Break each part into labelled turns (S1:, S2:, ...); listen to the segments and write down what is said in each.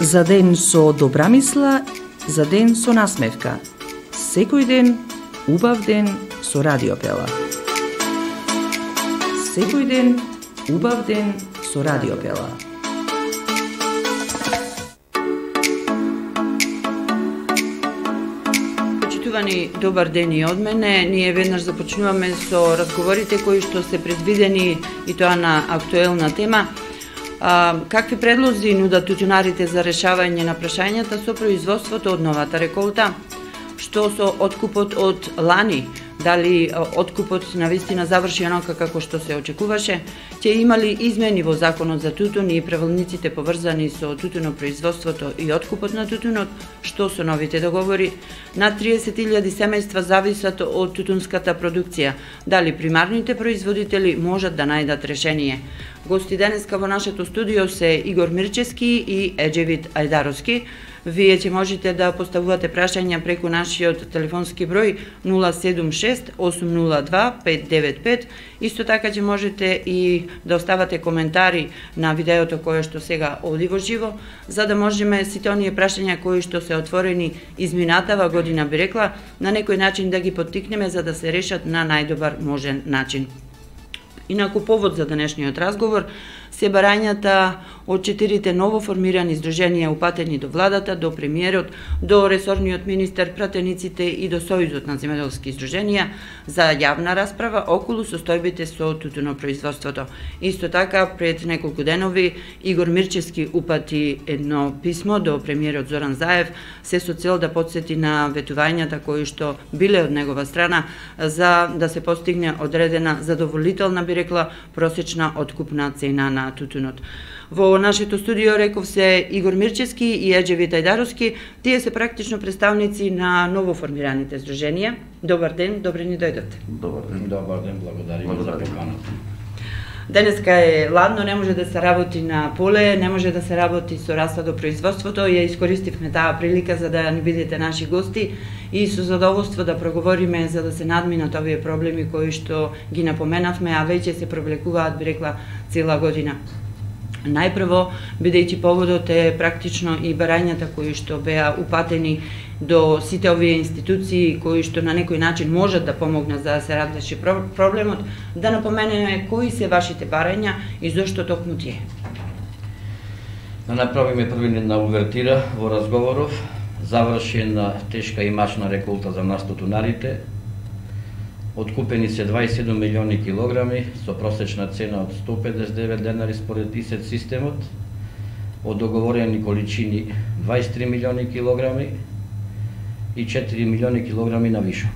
S1: За ден со добра мисла, за ден со насмевка. Секој ден, убав ден со Радиопела. Секој ден, убав ден со Радиопела.
S2: Почитувани, добар ден и од мене. Ние веднаш започнуваме со разговорите кои што се предвидени и тоа на актуелна тема. Какви предлози нудат тутунарите за решавање на прашањата со производството од новата реколта? Што со откупот од лани? Дали откупот навистина заврши онока како што се очекуваше? Ќе има ли измени во законот за тутун и правилниците поврзани со тутунопроизводството и откупот на тутунот? Што со новите договори? Над 30.000 семејства зависат од тутунската продукција. Дали примарните производители можат да најдат решение? Гости денеска во нашето студио се Игор Мирчевски и Еџевит Ајдаровски. Вие ќе можете да поставувате прашања преку нашиот телефонски број 076-802-595. Исто така ќе можете и да оставате коментари на видеото кое што сега оди во живо, за да можеме сите оние прашања кои што се отворени изминатава година, би рекла, на некој начин да ги поттикнеме за да се решат на најдобар можен начин. Инаку повод за денешниот разговор се барањата од 4 новоформирани здруженија упатени до владата, до премиерот, до ресорниот министер, пратениците и до Сојузот на земјоделски здруженија за јавна расправа околу состојбите со тутунопроизводството. Исто така, пред неколку денови Игор Мирчевски упати едно писмо до премиерот Зоран Заев, се со цел да потсети на ветувањата кои што биле од негова страна за да се постигне одредена задоволителна, би рекла, просечна откупна цена на тутунот. Во нашето студио реков се Игор Мирчевски и Еџевит Ајдаровски. Тие се практично представници на новоформираните здруженија. Добар ден, добре ни дојдете.
S3: Добар ден, благодариме за поканата.
S2: Денеска е ладно, не може да се работи на поле, не може да се работи со расадопроизводството. Ја искористивме таа прилика за да ни бидете наши гости и со задоволство да проговориме за да се надминат овие проблеми кои што ги напоменавме, а веќе се провлекуваат, би рекла, цела година. Најпрво, бидејќи поводот е практично и барањата кои што беа упатени до сите овие институции кои што на некој начин можат да помогнат за да се разреши проблемот, да напоменеме кои се вашите барања и зошто токму тие.
S3: Да направиме први една увертира во разговоров, завршена тешка и мачна реколта за нас тутунарите. Откупени се 27 милиони килограми со просечна цена од 159 денари според ИСЕТ системот, од договорени количини 23 милиони килограми и 4 милиони килограми на вишок.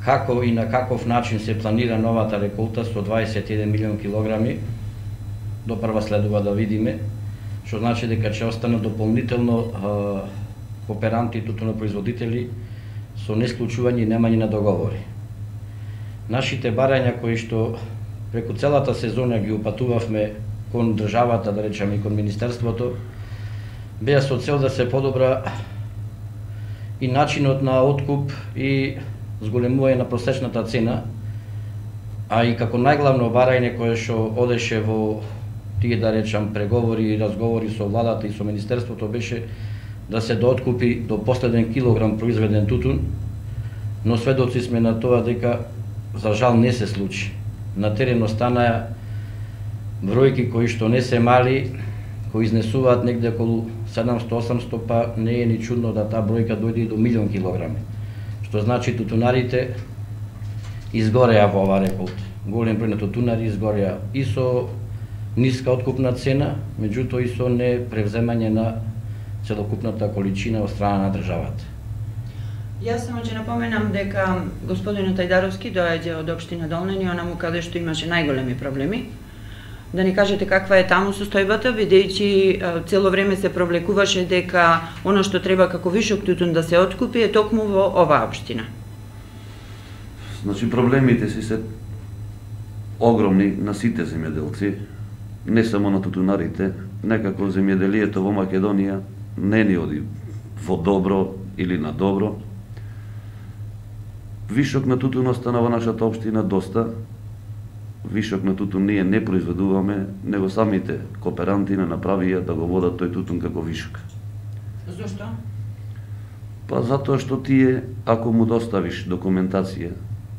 S3: Како и на каков начин се планира новата реколта со 21 милион килограми, допрва следува да видиме, што значи дека ќе останат дополнително кооперанти и тутунопроизводители со несклучување и немање на договори. Нашите барања кои што преку целата сезона ги упатувавме кон државата, да речеме и кон Министерството, беа со цел да се подобра и начинот на откуп и зголемување на просечната цена, а и како најглавно барање кое што одеше во тие, да речам, преговори и разговори со владата и со Министерството беше да се дооткупи до последен килограм произведен тутун, но сведоци сме на тоа дека за жал не се случи. На терен останаа бројки кои што не се мали, кои изнесуваат негде околу 700-800, па не е ни чудно да таа бројка дојде и до милион килограми. Што значи тутунарите изгореа во оваа реколта. Голем број на тутунари изгореа и со ниска откупна цена, меѓутоа и со не превземање на целокупната количина од страна на државата.
S2: Јас само ќе напоменам дека господинот Ајдаровски доаѓа од општина Долнени, онаму каде што имаше најголеми проблеми. Да ни кажете каква е таму состојбата, бидејќи цело време се провлекуваше дека оно што треба како вишок тутун да се откупи е токму во оваа општина.
S4: Значи проблемите се огромни на сите земјоделци, не само на тутунарите. Некако земјоделието во Македонија не ни оди во добро или на добро. Вишок на тутун остана во нашата општина доста. вишок на тутун ние не произведуваме, него самите кооперанти не направија да го водат тој тутун како вишок.
S2: Зошто?
S4: Па затоа што тие, ако му доставиш документација,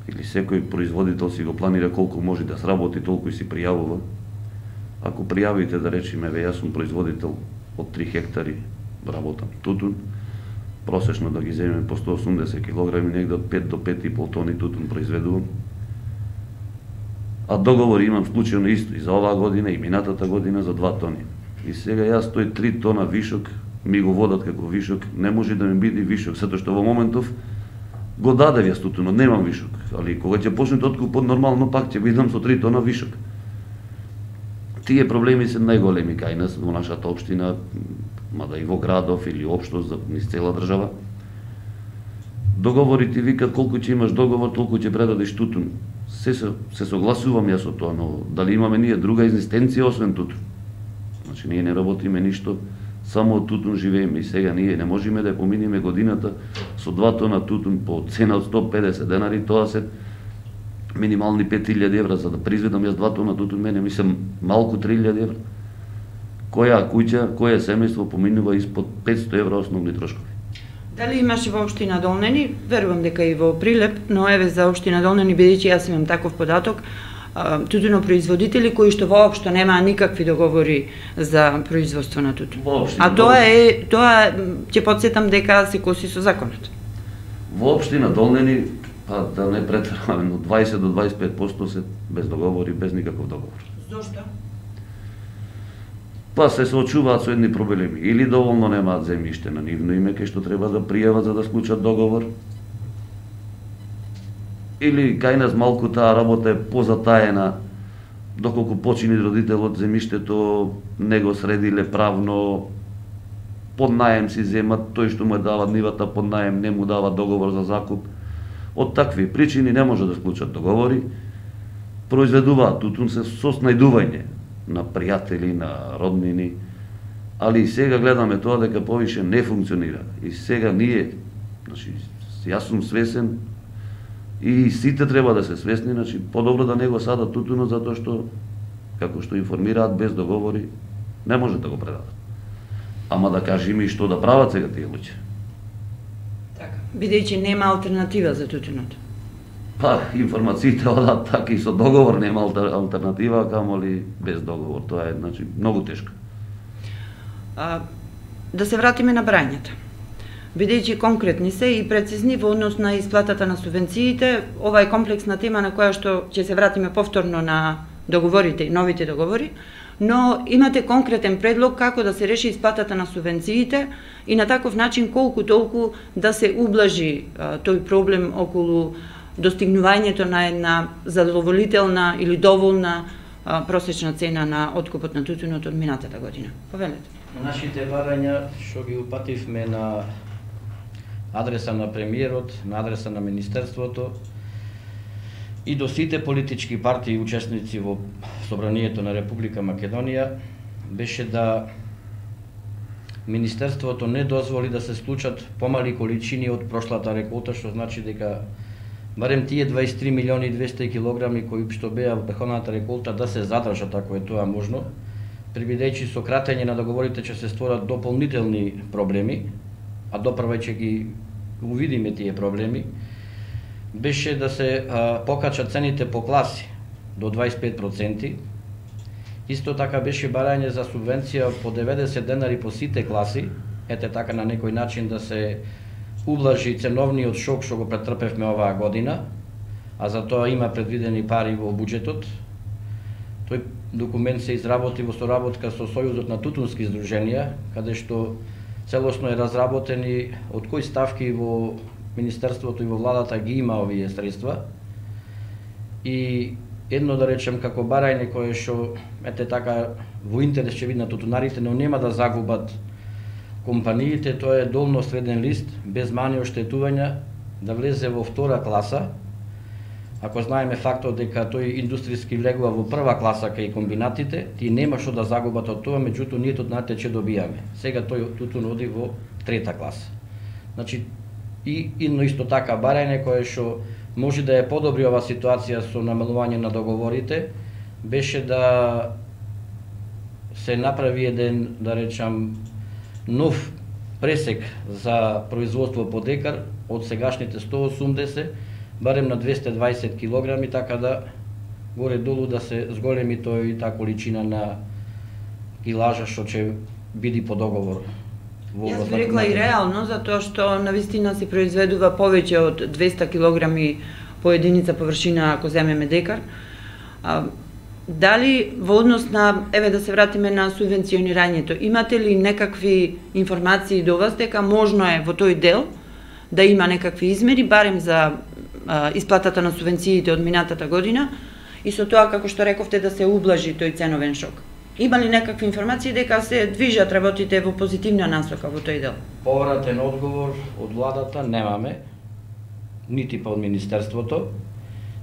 S4: или секој производител си го планира колку може да сработи, толку и си пријавува. Ако пријавите, да речеме, јас сум производител од 3 хектари, работам тутун, просечно да ги земеме по 180 кг, негде од 5 до 5,5 тони тутун произведувам. А договори имам случајно исто и за оваа година и минатата година за 2 тони. И сега јас тој 3 тона вишок ми го водат како вишок, не може да ми биде вишок, затоа што во моментов го дадев јас тутунот, немам вишок, али кога ќе почнете откупот нормално пак ќе видам со 3 тона вишок. Тие проблеми се најголеми кај нас во нашата општина, мада и во градов или општо за низ цела држава. Договорите викат колку ќе имаш договор, толку ќе предадеш тутун. Се согласувам јас со тоа, но дали имаме ние друга екзистенција освен тутун? Значи ние не работиме ништо, само од тутун живееме и сега ние не можеме да поминеме годината со 2 тона тутун по цена од 150 денари, тоа се минимални 5000 евра за да произведам јас 2 тона тутун, мене мислам малку 3000 евра. Која куќа, која семејство поминува испод 500 евра основни трошкови.
S2: Дали имаше во општина Долнени? Верувам дека и во Прилеп, но еве за општина Долнени, бидејќи јас имам таков податок, тутунопроизводители кои што воопшто немаа никакви договори за производство на тутун. А тоа ќе потсетам дека се коси со законот.
S4: Во општина Долнени, па да не претеруваме, но 20 до 25% се без договори, без никаков договор.
S2: Зошто?
S4: Па се соочуваат со едни проблеми. Или доволно немаат земјиште на нивно име кај што треба да пријават за да склучат договор, или кај нас малку таа работа е позатаена, доколку почини родителот земјиштето не го средиле правно, под наем си земат, тој што му дава нивата под наем не му дава договор за закуп. Од такви причини не може да склучат договори, произведуваат тутун се со снајдување на пријатели, на роднини, али и сега гледаме тоа дека повише не функционира. И сега ние, значи, јас сум свесен, и сите треба да се свесни, значи, подобро да не го садат тутунот, затоа што, како што информираат, без договори, не може да го предадат. Ама да кажеме и што да прават сега тие луѓе.
S2: Така, бидејќи нема алтернатива за тутунот.
S4: Па, информациите одат така и со договор нема алтернатива, камоли без договор. Тоа е, значи, многу тешко.
S2: Да се вратиме на брањата. Бидејќи конкретни се и прецизни во однос на исплатата на субвенциите, ова е комплексна тема на која што ќе се вратиме повторно на договорите и новите договори, но имате конкретен предлог како да се реши исплатата на субвенциите и на таков начин колку толку да се ублажи тој проблем околу достигнувањето на една задоволителна или доволна просечна цена на откупот на тутунот од минатата година. Повелете.
S3: Нашите барања што ги упативме на адреса на премиерот, на адреса на Министерството и до сите политички партии и учесници во Собранието на Република Македонија беше да Министерството не дозволи да се склучат помали количини од прошлата реколта, што значи дека барем тие 23 милиони 200 килограми кои што беа во претходната реколта да се задржат ако е тоа можно, прибидејќи со кратење на договорите ќе се створат дополнителни проблеми, а допрва ќе ги увидиме тие проблеми, беше да се покачат цените по класи до 25%. Исто така беше барање за субвенција по 90 денари по сите класи, ете така на некој начин да се ублажи ценовниот шок што го претрпевме оваа година, а за тоа има предвидени пари во буџетот. Тој документ се изработи во соработка со Сојузот на тутунски здруженија, каде што целосно е разработен и од кои ставки во Министерството и во владата ги има овие средства. И едно да речем како барање кое што ете така во интерес ќе биде на тутунарите, но нема да загубат компаниите, тоа е долно среден лист без мани оштетувања да влезе во втора класа. Ако знаеме фактот дека тој индустријски влегува во прва класа кај комбинатите, тие нема што да загубат од тоа, меѓутоа ние тутунарите ќе добијаме. Сега тој тутун оди во трета класа. Значи и исто така барање кое што може да ја подобри ова ситуација со намалување на договорите, беше да се направи еден, да речам, нов пресек за производство по декар од сегашните 180 барем на 220 килограми, така да горе-долу да се зголеми тој таа количина на килажа што ќе биде по договор.
S2: Јас би рекла и реално, затоа што навистина се произведува повеќе од 200 килограми по единица површина ако земеме декар. Дали во однос на, еве да се вратиме на субвенционирањето, имате ли некакви информации до вас дека можно е во тој дел да има некакви измери, барем за исплатата на субвенциите од минатата година и со тоа, како што рековте, да се ублажи тој ценовен шок? Има ли некакви информации дека се движат работите во позитивна насока во тој дел?
S3: Повратен одговор од владата немаме, нити па од Министерството.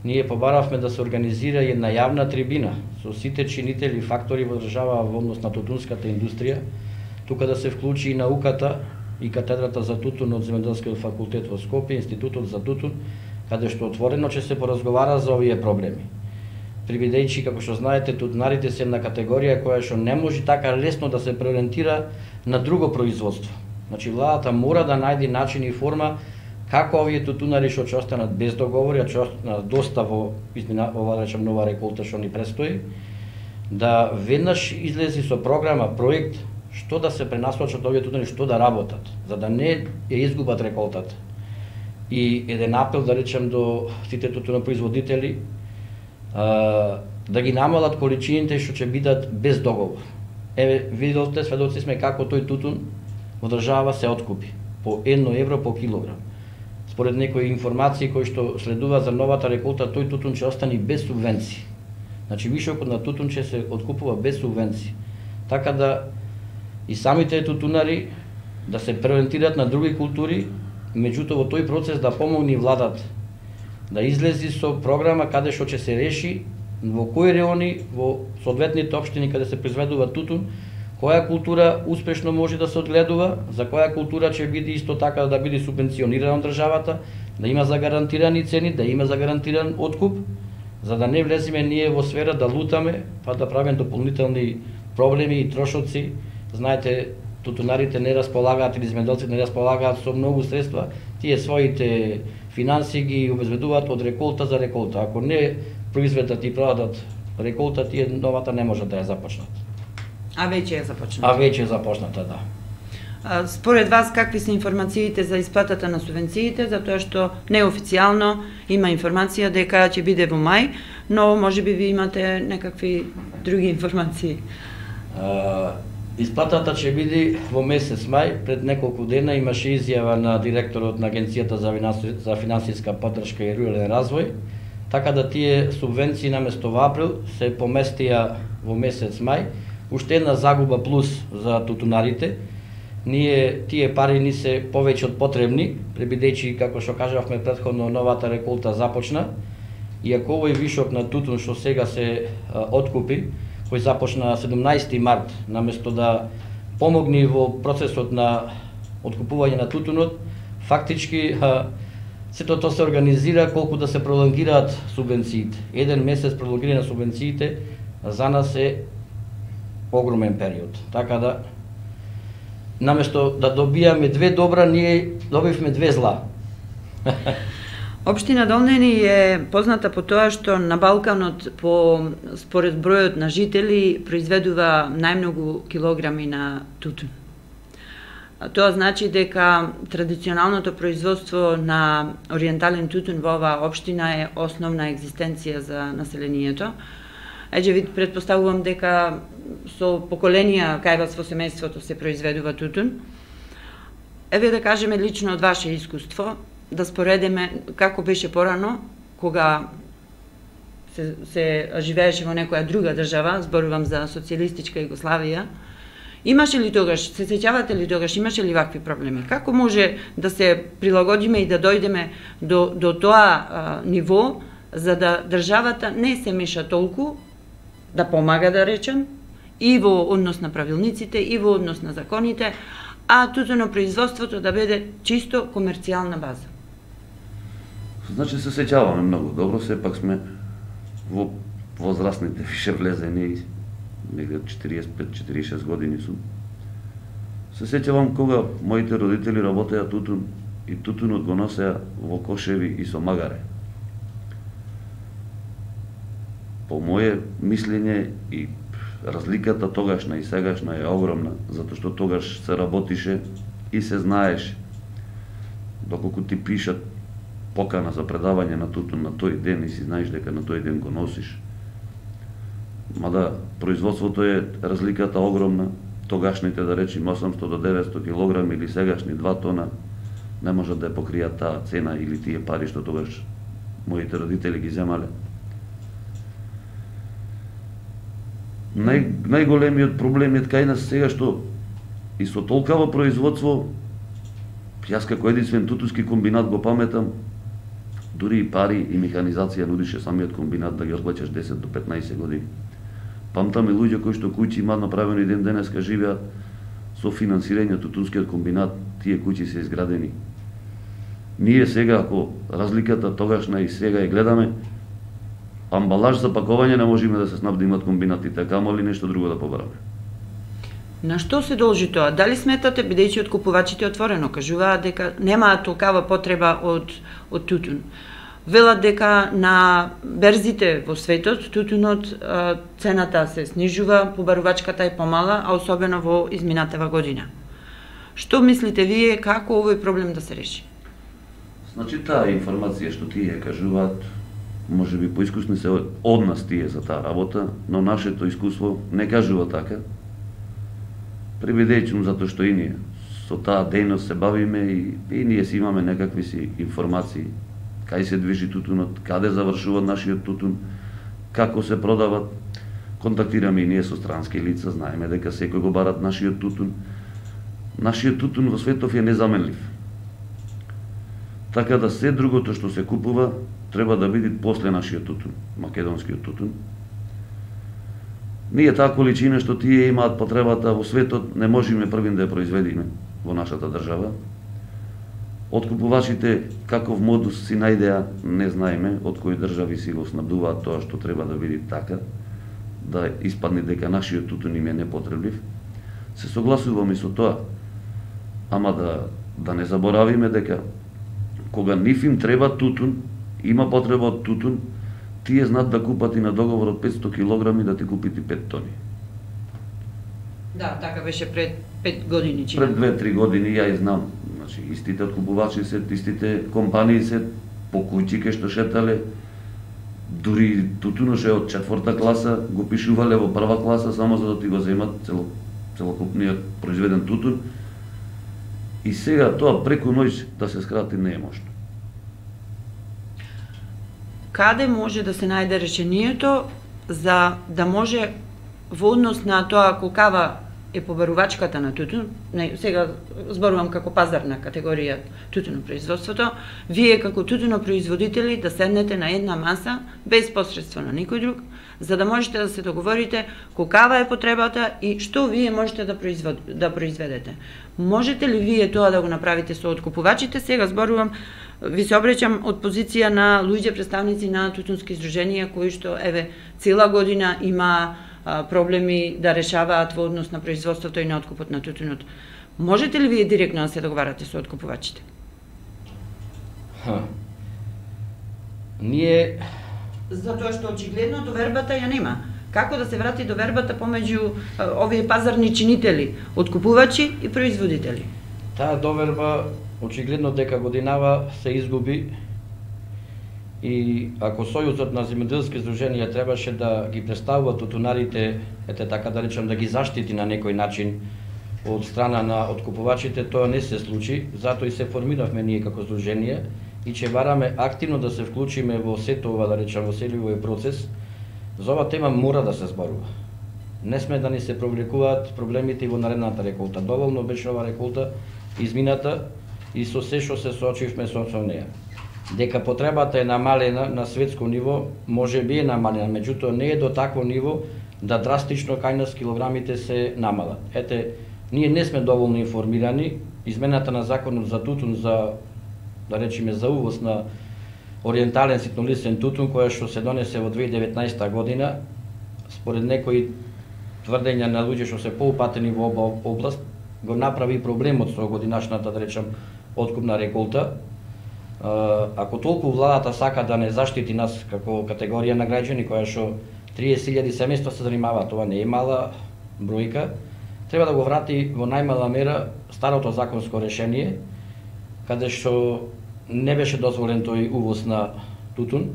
S3: Ние побаравме да се организира една јавна трибина со сите чинители и фактори во држава во однос на тутунската индустрија, тука да се вклучи и науката и катедрата за тутун од Земјоделскиот факултет во Скопје, Институтот за тутун, каде што отворено ќе се поразговара за овие проблеми. Привидејќи, како што знаете, тутунарите се една категорија која што не може така лесно да се преориентира на друго производство. Значи, владата мора да најде начин и форма како овие тутунари што ќе останат без договори, а ќе останат доста во ова, да речем, нова реколта што ни престои, да веднаш излези со програма, проект, што да се пренасочат овие тутунари, што да работат, за да не ја изгубат реколтата. И еден апел, да речем, до сите тутунопроизводители, да ги намалат количините што ќе бидат без договор. Еве, виделте, сведоци сме како тој тутун во држава се откупи по 1 евро по килограм. Според некои информации кои што следува за новата реколта, тој тутун ќе остане без субвенции. Значи, вишокот на тутун ќе се откупува без субвенции. Така да и самите тутунари да се преориентираат на други култури, меѓутоа во тој процес да помогне владата да излези со програма каде што ќе се реши во кои реони, во соодветните општини каде се произведува тутун, која култура успешно може да се одгледува, за која култура ќе биде исто така да биде субвенционирана од државата, да има загарантирани цени, да има загарантиран откуп, за да не влеземе ние во сфера да лутаме, па да правиме дополнителни проблеми и трошоци. Знаете, тутунарите не располагаат или земјоделците не располагаат со многу средства, тие своите финанси ги обезбедуваат од реколта за реколта. Ако не произведат и продадат реколта, тие новата не можат да ја започнат.
S2: А веќе е започната.
S3: А веќе е започната, да.
S2: Според вас, какви се информациите за исплатата на субвенциите, затоа што неофицијално има информација дека ќе биде во мај, но можеби ви имате некакви други информации?
S3: Исплатата ќе биде во месец мај. Пред неколку дена имаше изјава на директорот на Агенцијата за финансиска поддршка и рурален развој, така да тие субвенции наместо во април се поместија во месец мај. Уште една загуба плюс за тутунарите. Тие пари ни се повеќе од потребни, пребидејќи, како што кажавме претходно, новата реколта започна. И ако овој вишок на тутун што сега се откупи, кој започна 17 март, наместо да помогне во процесот на откупување на тутунот, фактички сето тоа се организира колку да се пролонгираат субвенциите. Еден месец пролонгирање на субвенциите за нас е огромен период. Така да, наместо да добијаме две добра, ние добивме две зла.
S2: Општина Долнени е позната по тоа што на Балканот според бројот на жители произведува најмногу килограми на тутун. Тоа значи дека традиционалното производство на ориентален тутун во оваа општина е основна екзистенција за населението. Еџе вид претпоставувам дека со поколенија кај вас во семејството се произведува тутун. Еве да кажеме лично од ваше искуство, да споредиме како беше порано, кога се живееше во некоја друга држава, зборувам за социјалистичка Југославија. Имаше ли тогаш, се сеќавате ли тогаш, имаше ли вакви проблеми? Како може да се прилагодиме и да дојдеме до тоа ниво, за да државата не се меша толку, да помага, да речем, и во однос на правилниците, и во однос на законите, а тутунопроизводството да биде чисто комерцијална база?
S4: Значи се сеќаваме многу добро, сепак сме во возрастните више влезени, негде 45-46 години сум. Се сеќавам кога моите родители работеа тутун и тутунот го носеа во кошеви и со магаре. По моје мислење и разликата тогашна и сегашна е огромна, затоа што тогаш се работише и се знаеше. Доколку ти пишат покана за предавање на тутун на тој ден и си знаеш дека на тој ден го носиш. Мада производството е разликата огромна, тогашните да речем 800 до 900 килограми или сегашни 2 тона не можат да ја покријат таа цена или тие пари што тогаш моите родители ги земале. Најголемиот проблем е кај нас сега што и со толкава производство, јас како единствен тутунски комбинат го паметам, дури и пари и механизација нудише самиот комбинат да ги отплаќаш 10 до 15 години. Памтаме луѓе кои што куќи имаат направено и ден денеска живеат со финансирање тутунскиот комбинат, тие куќи се изградени. Ние сега, ако разликата тогашна и сега ја гледаме, амбалаж за пакување не можеме да се снабдимат комбинатите, камоли нешто друго да побараме.
S2: На што се должи тоа? Дали сметате, бидејќи откупувачите отворено кажуваат дека немаат толкава потреба од тутун? Велат дека на берзите во светот тутунот цената се снижува, побарувачката е помала, а особено во изминатава година. Што мислите вие како овој проблем да се реши?
S4: Значи таа информација што тие кажуваат, може би поискусни се од нас тие за таа работа, но нашето искуство не кажува така. Прибедејќи затоа што и ние со таа дејност се бавиме и ние си имаме некакви си информации кај се движи тутунот, каде завршува нашиот тутун, како се продават. Контактираме и ние со странски лица, знаеме дека секој го барат нашиот тутун. Нашиот тутун во светов е незаменлив. Така да се другото што се купува треба да биде после нашиот тутун, македонскиот тутун. Ние таа количина што тие имаат потребата во светот не можеме првин да ја произведиме во нашата држава. Откупувачите каков модус си најдеа не знаеме, од кои држави си го снабдуваат тоа што треба да биде така, да испадне дека нашиот тутун им е непотреблив. Се согласуваме со тоа, ама да не заборавиме дека кога нив им треба тутун, има потреба од тутун, тие знаат да купат и на договор од 500 килограми да ти купите 5 тони.
S2: Да, така беше пред 5 години.
S4: Пред 2-3 години ја знам. Значи, истите откупувачи се, истите компании се по куќи што шетале, дури тутуноше од 4-та класа го пишувале во 1-ва класа само за да ти го земат целокупниот произведен тутун. И сега тоа преку ноќ да се скрати не е можно.
S2: Каде може да се најде решението за да може во однос на тоа колкава е побарувачката на тутун, сега зборувам како пазарна категорија тутунопроизводството, вие како тутунопроизводители да седнете на една маса без посредство на никој друг, за да можете да се договорите колкава е потребата и што вие можете да произведете. Можете ли вие тоа да го направите со откупувачите? Сега зборувам, ви се обраќам од позиција на луѓе представници на тутунски издруженија кои што цела година има проблеми да решаваат во однос на производството и на откупот на тутунот. Можете ли вие директно да се договарате со откупувачите?
S3: Ние...
S2: Затоа што очигледно довербата ја нема. Како да се врати довербата помеѓу овие пазарни чинители, откупувачи и производители?
S3: Таа доверба очигледно дека годинава се изгуби и ако Сојузот на земјоделски здруженија требаше да ги представува тутунарите, така да речем, да ги заштити на некој начин од страна на откупувачите, тоа не се случи, затоа и се формиравме ние како здружение и че бараме активно да се вклучиме во сето ова, да речем, во целиот овој процес. За ова тема мора да се зборува. Не сме да ни се провлекуваат проблемите и во наредната реколта. Доволно беше ова реколта измината и со се што се соочивме со неја. Дека потребата е намалена на светско ниво, може би е намалена, меѓутоа не е до такво ниво да драстично кај нас килограмите се намалат. Ние не сме доволно информирани, измената на законот за тутун, за да речеме за увоз на ориентален ситнолистен тутун која што се донесе во 2019 година, според некои тврдења на луѓе што се поупатени во област, го направи проблемот со годинашната, да речам, откупна реколта. Ако толку владата сака да не заштити нас како категорија на граѓани, која што 30.000 семејства се занимава, това не е мала бројка, треба да го врати во најмала мера старото законско решение, каде што не беше дозволен тој увоз на тутун,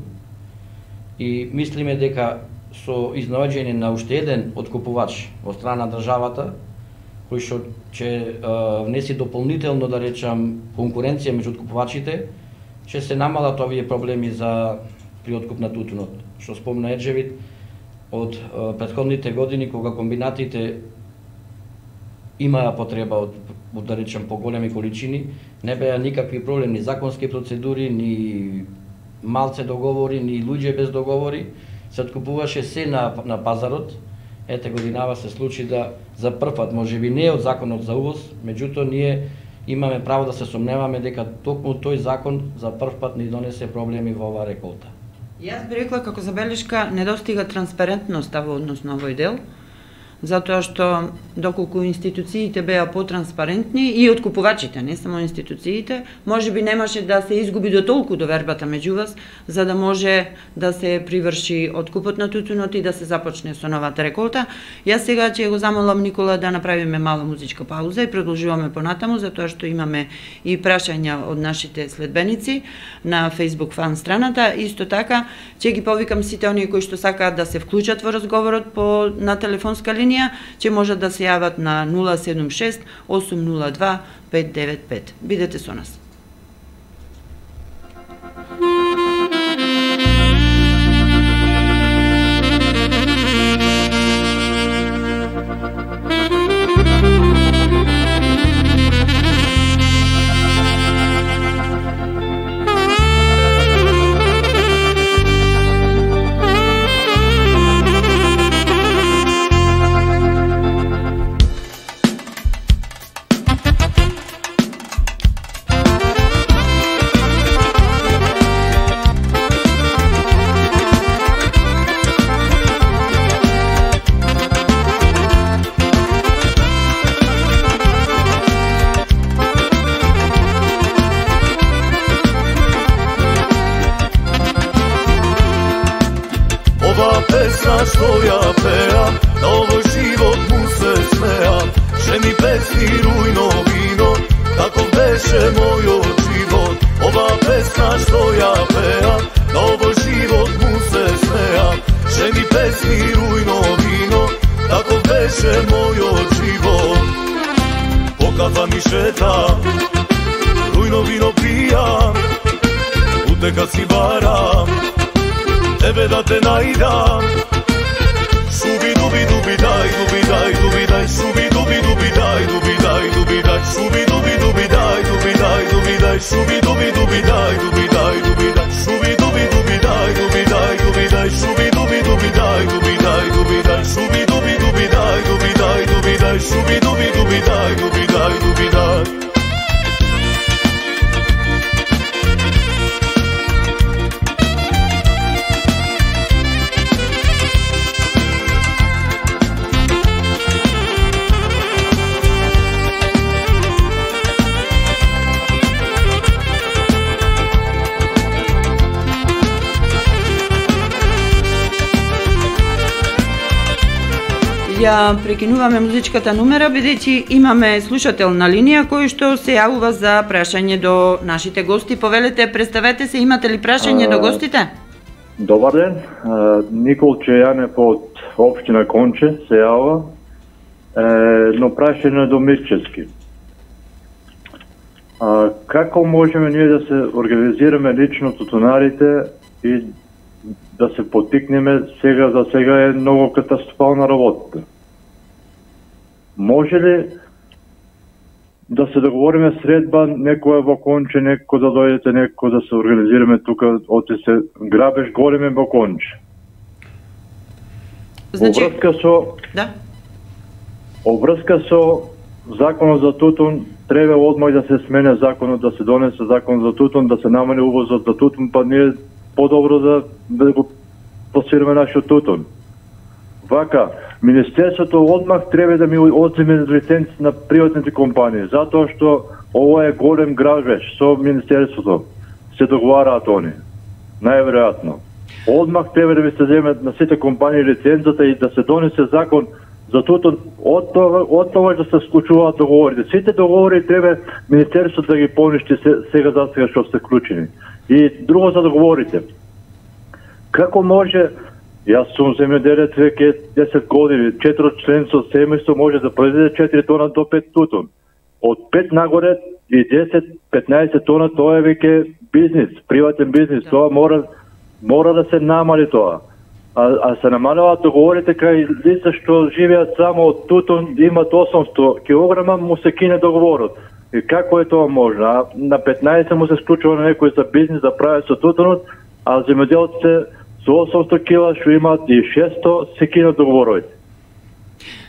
S3: и мислиме дека со изнаоѓање на уште еден откупувач од страна на државата, кој што ќе внеси дополнително, да речам, конкуренција меѓу откупувачите, ќе се намалат овие проблеми при откуп на тутунот. Што спомна Еджевит, од претходните години, кога комбинатите имаа потреба од, да речем, поголеми количини, не беа никакви проблеми, ни законски процедури, ни малце договори, ни луѓе без договори, се откупуваше се на пазарот. Ете годинава се случи да за прв пат, можеби не од законот за увоз, меѓутоа ние имаме право да се сомневаме дека токму тој закон за прв пат ни донесе проблеми во оваа реколта.
S2: Јас би рекла како забелешка недостига транспарентноста во однос на овој дел, затоа што доколку институциите беа потранспарентни и откупувачите, не само институциите, можеби немаше да се изгуби до толку довербата меѓу вас, за да може да се приврши откупот на тутунот и да се започне со новата реколта. Јас сега ќе го замолам Никола да направиме мала музичка пауза и продолжуваме понатаму, затоа што имаме и прашања од нашите следбеници на Facebook фан страната. Исто така ќе ги повикам сите оние кои што сакаат да се вклучат во разговорот на телефонска линија, ќе можат да се јават на 076 802 595. Бидете со нас.
S5: Што ја пеа, на овој живот му се смеа. Жени песни, рујно вино, таков беше мојот живот. Ова песна што ја пеа, на овој живот му се смеа. Жени песни, рујно вино, таков беше мојот живот. По кафа ми шетам, рујно вино пијам, утека си барам, тебе да те најдам. Шуби дуби дуби дай дуби дай дуби дай шуби дуби дуби дай дуби дай дуби дай шуби дуби дуби дай дуби дай дуби дай шуби дуби дуби дай дуби дай дуби дай шуби дуби дуби дай дуби дай дуби дай шуби дуби дуби дай дуби дай дуби дай шуби дуби дуби дай дуби дай дуби дай шуби дуби дуби дай дуби дай дуби дай.
S2: Ја прекинуваме музичката номера, бидејќи имаме слушател на линија кој што се јавува за прашање до нашите гости. Повелете, представете се, имате ли прашање до гостите?
S6: Добар ден, Николче Јанев од општина Конче се јава, но прашање до Мирчевски. Како можеме ние да се организираме лично тутунарите и да се потикнеме? За сега е многу катастрофална работа. Може ли да се договориме средба, некоја во Конче, некој да дојдете, некој да се организираме тука, оти се грабеж големе во Конче?
S2: Значи,
S6: Обврска со законот за тутун, треба одмах да се смене законот, да се донесе закон за тутун, да се намали увозот за тутун, па ние подобро да го пласираме нашиот тутун. Вака, Министерството одмах треба да ми одземе лиценци на приватните компании, затоа што ова е голем грабеж со Министерството. Се договараат они. Најверојатно. Одмах треба да ми се земе на сите компании лицензата и да се донесе закон за тутун, од тоа да се склучуваат договорите. Сите договори треба Министерството да ги поништи сега за сега што се вклучени. И друго за договорите. Како може, јас сум земјоделец веќе 10 години, 4-членско семејство може да произведе 4 тона до 5 тутун. Од 5 нагоре и 10-15 тона тоа е веќе бизнис, приватен бизнис, тоа мора да се намали тоа. А се намаляваат договорите кај лица што живеат само од тутун, имат 800 килограма, му се кине договорот. И како е тоа можно? А на 15 му се склучува на некој за бизнис да прави со тутунот, а земјоделците со 800 кила што имаат и 600 се кинат договорите.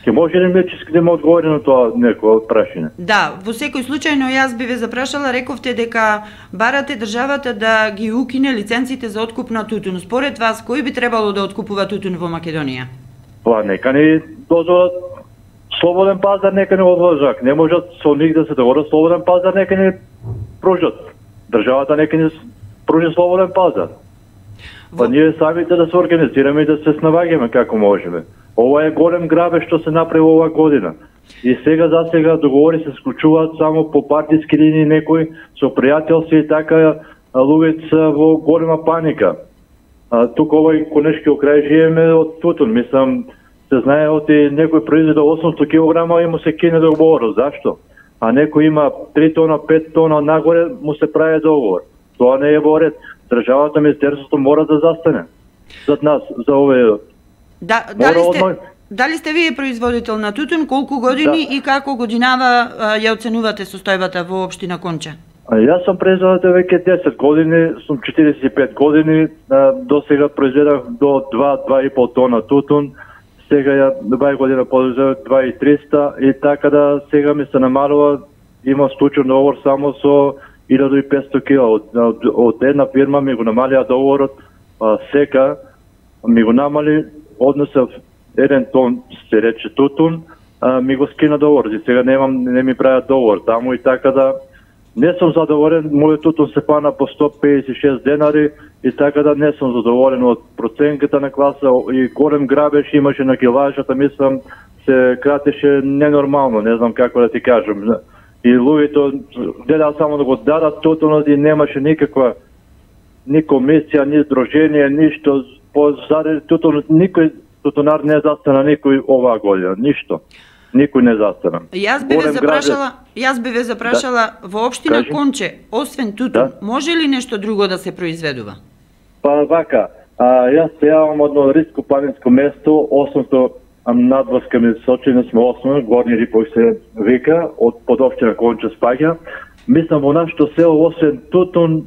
S6: Ке може ли мечиски да ме одговори на тоа некој прашање?
S2: Да, во секој случај, но јас би ве запрашала, рековте дека барате државата да ги укине лиценците за откуп на тутун. Според вас, кој би требало да откупува тутун во Македонија?
S6: Па нека ни дозволат слободен пазар, нека ни одложат. Не можат со них да се договорат слободен пазар, нека ни пружат. Државата нека ни пружи слободен пазар. Па ние самите да се организираме и да се снаоѓаме како можеме. Ова е голем грабеж што се направи ова година. И сега за сега договори се склучуваат само по партиски линии, некои со пријателство и така луѓето во голема паника. Тука овој конешки окрај живееме од тутун, мислам, се знае оти некој произведе 800 кг и му се кине договор. Зашто? А некој има 3 тона, 5 тона нагоре, му се прави договор. Тоа не е во ред. Државата, Министерството мора да застане зад нас, за овој.
S2: Дали сте вие производител на тутун, колку години и како годинава ја оценувате состојбата во општина Конча?
S6: Јас сум производител веќе 10 години, сум 45 години, до сега произведав до 2-2,5 тона тутун, сега ја 2 година произведав 2,300 и така да сега ми се намалува, има случај договор само со 1500 кила. Од една фирма ми го намалија договорот, сека ми го намали, однесов 1 тон се рече тутун, ми го скина договор и сега не ми прават договор таму и така да не сум задоволен. Мојот тутун се пана по 156 денари и така да не сум задоволен од проценката на класа и голем грабеж имаше на килажата, мислам се кратеше ненормално, не знам како да ти кажам. И луѓето гледаат само да го дадат тутунот и немаше никаква ни комисија, ни здружение, ништо. Заради тутунот никој тутунар не застана никој оваа година, ништо. Никој не застана.
S2: Јас би ве запрашала во општина Конче, освен тутун, може ли нешто друго да се произведува?
S6: Па вака, јас се јавам од едно риско планинско место, осмото надврска ми сочине сме осмо, Горни Рипој се вика, од под општина Конче спаѓа. Мислам во нашето село освен тутун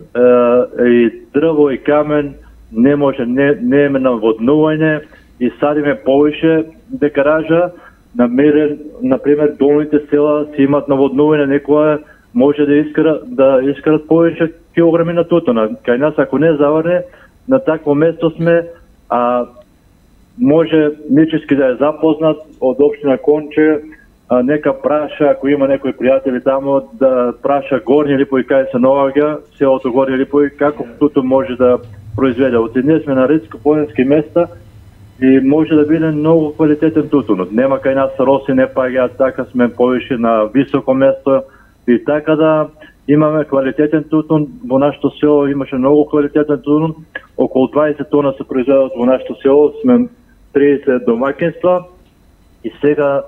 S6: и дрво и камен не може, не е наводнување и садиме повише декаража. Например, долните села си имат наводнување, некоја може да искарат повише килограми на тутуна. Кај нас ако не заврне, на такво место сме, може нечиски да е запознат од општина Конче, нека праша, ако има некои пријатели таму, да праша Горни Рипој кај се наоѓа, селото Горни Рипој, како тутун може да произведе. Ние сме на ридско-планински места и може да биде многу квалитетен тутунот. Нема кај нас роси не паѓаат, така сме повише на високо место и така да имаме квалитетен тутун. Во нашето село имаше многу квалитетен тутун, околу 20 тона се произведат во нашето село, сме 30 домаќинства и сега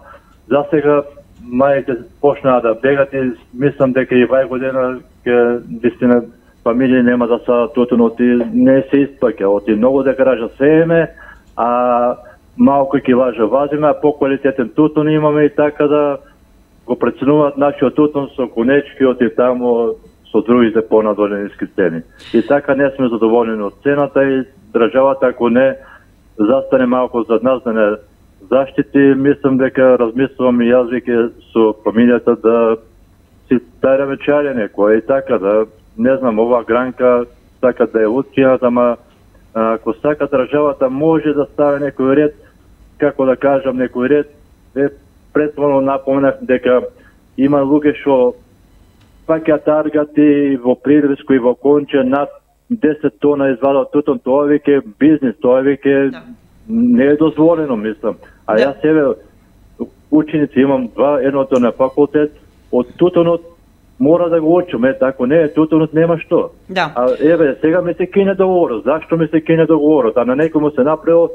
S6: за сега мајите почнаа да бегат и мислам дека и вај година ќе вистина фамилии нема да садат тутунот и не се испаќа. Оти многу декаража сееме, а малку килажа вазиме, а по-квалитетен тутун имаме и така да го преценуваат нашиот тутун со конечки оти таму со другите понадолниски цени. И така не сме задоволени од цената и државата ако не застане малку зад нас да не заштити, мислам дека размислувам и јас веќе со фамилијата да си береме чајле некој и така да, не знам, ова гранка сака да е уткинат, ама ако сака државата може да стави некој ред, како да кажам, некој ред, претходно напоменав дека има луѓе што пак ја таргати во Прилиско и во Конче над 10 тона извадат тутун, тоа веќе бизнис, тоа веќе не е дозволено, мислам. А јас себе ученици имам два, едното на факултет, од тутунот мора да го учам, ако не е тутунот нема што.
S2: Да.
S6: А еве, сега ми се кине договорот, зашто ми се кине договорот? А на некој му се направил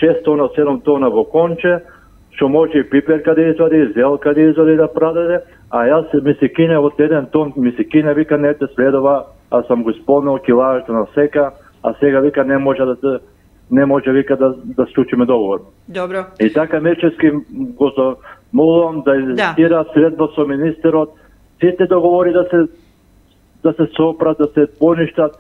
S6: 6 тона, 7 тона во Конче, што може и пиперка да извади, зелка да извади да продаде, а јас ми се кине од 1 тон, ми се кине, вика, не те следува, а сам го исполнил килажата на сека, а сега вика не може вика да склучиме договор.
S2: Добро.
S6: И така Мирчевски го молам да инзистира средба со министерот, сите договори да се сопрат, да се поништат,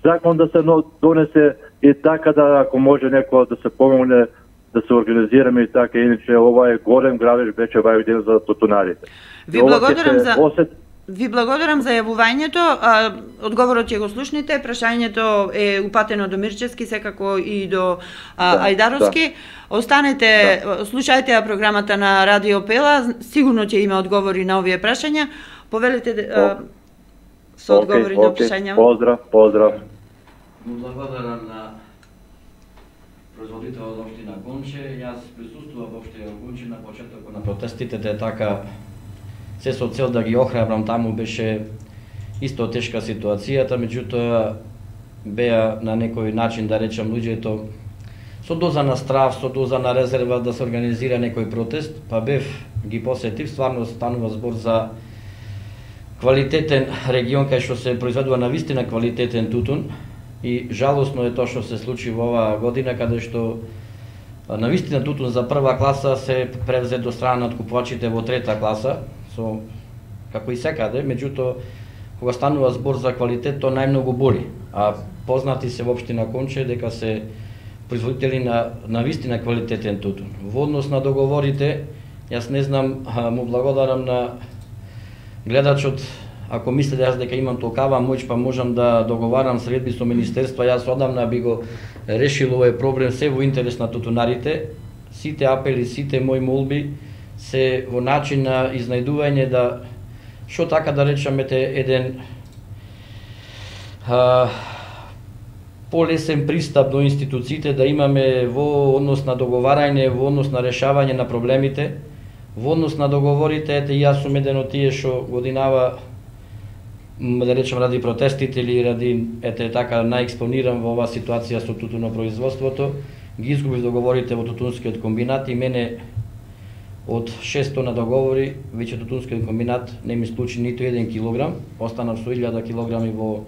S6: закон да се донесе и така да ако може некој да се помогне да се организираме и така, иначе ова е голем грабеж веќе вај ден за тутунарите.
S2: Ви благодарам за јавувањето. Одговорот ќе го слушнете. Прашањето е упатено до Мирчевски, секако и до Ајдаровски. Останете, слушајте ја програмата на Радио Пела, сигурно ќе има одговори на овие прашања. Повелите со одговори на прашања.
S6: Поздрав.
S3: Благодарам на производител од општина Конче. Јас присуствував во општина Конче на почетокот на протестите, така се со цел да ги охрабрам, таму беше исто тешка ситуацијата, меѓутоа беа на некој начин, да речам, луѓето со доза на страв, со доза на резерва да се организира некој протест, па ги посетив, стварно станува збор за квалитетен регион кај што се произведува навистина квалитетен тутун и жалосно е тоа што се случи во оваа година, каде што навистина тутун за прва класа се превзет до страна на откупувачите во трета класа, како и секаде, меѓутоа кога станува збор за квалитет, тоа најмногу боли. А познати се во општина Конче дека се производители на вистина квалитетен тутун. Во однос на договорите, јас не знам, му благодарам на гледачот, ако мисли јас дека имам толкава моќ, па можам да договарам средби со министерства, јас одамна би го решил овој проблем се во интерес на тутунарите. Сите апели, сите мои молби се во начин на изнајдување да, што така да речеме, еден полесен пристап до институциите, да имаме во однос на договарање, во однос на решавање на проблемите, во однос на договорите. Ете, јас сум еден од тие што годинава, да речем, ради протестите или ради, така, најекспониран во оваа ситуација со тутунопроизводството, ги изгубив договорите во тутунскиот комбинат и мене од 6 тона договори, веќе тутунскиот комбинат не ми склучи ниту 1 килограм, останав со 1000 килограми во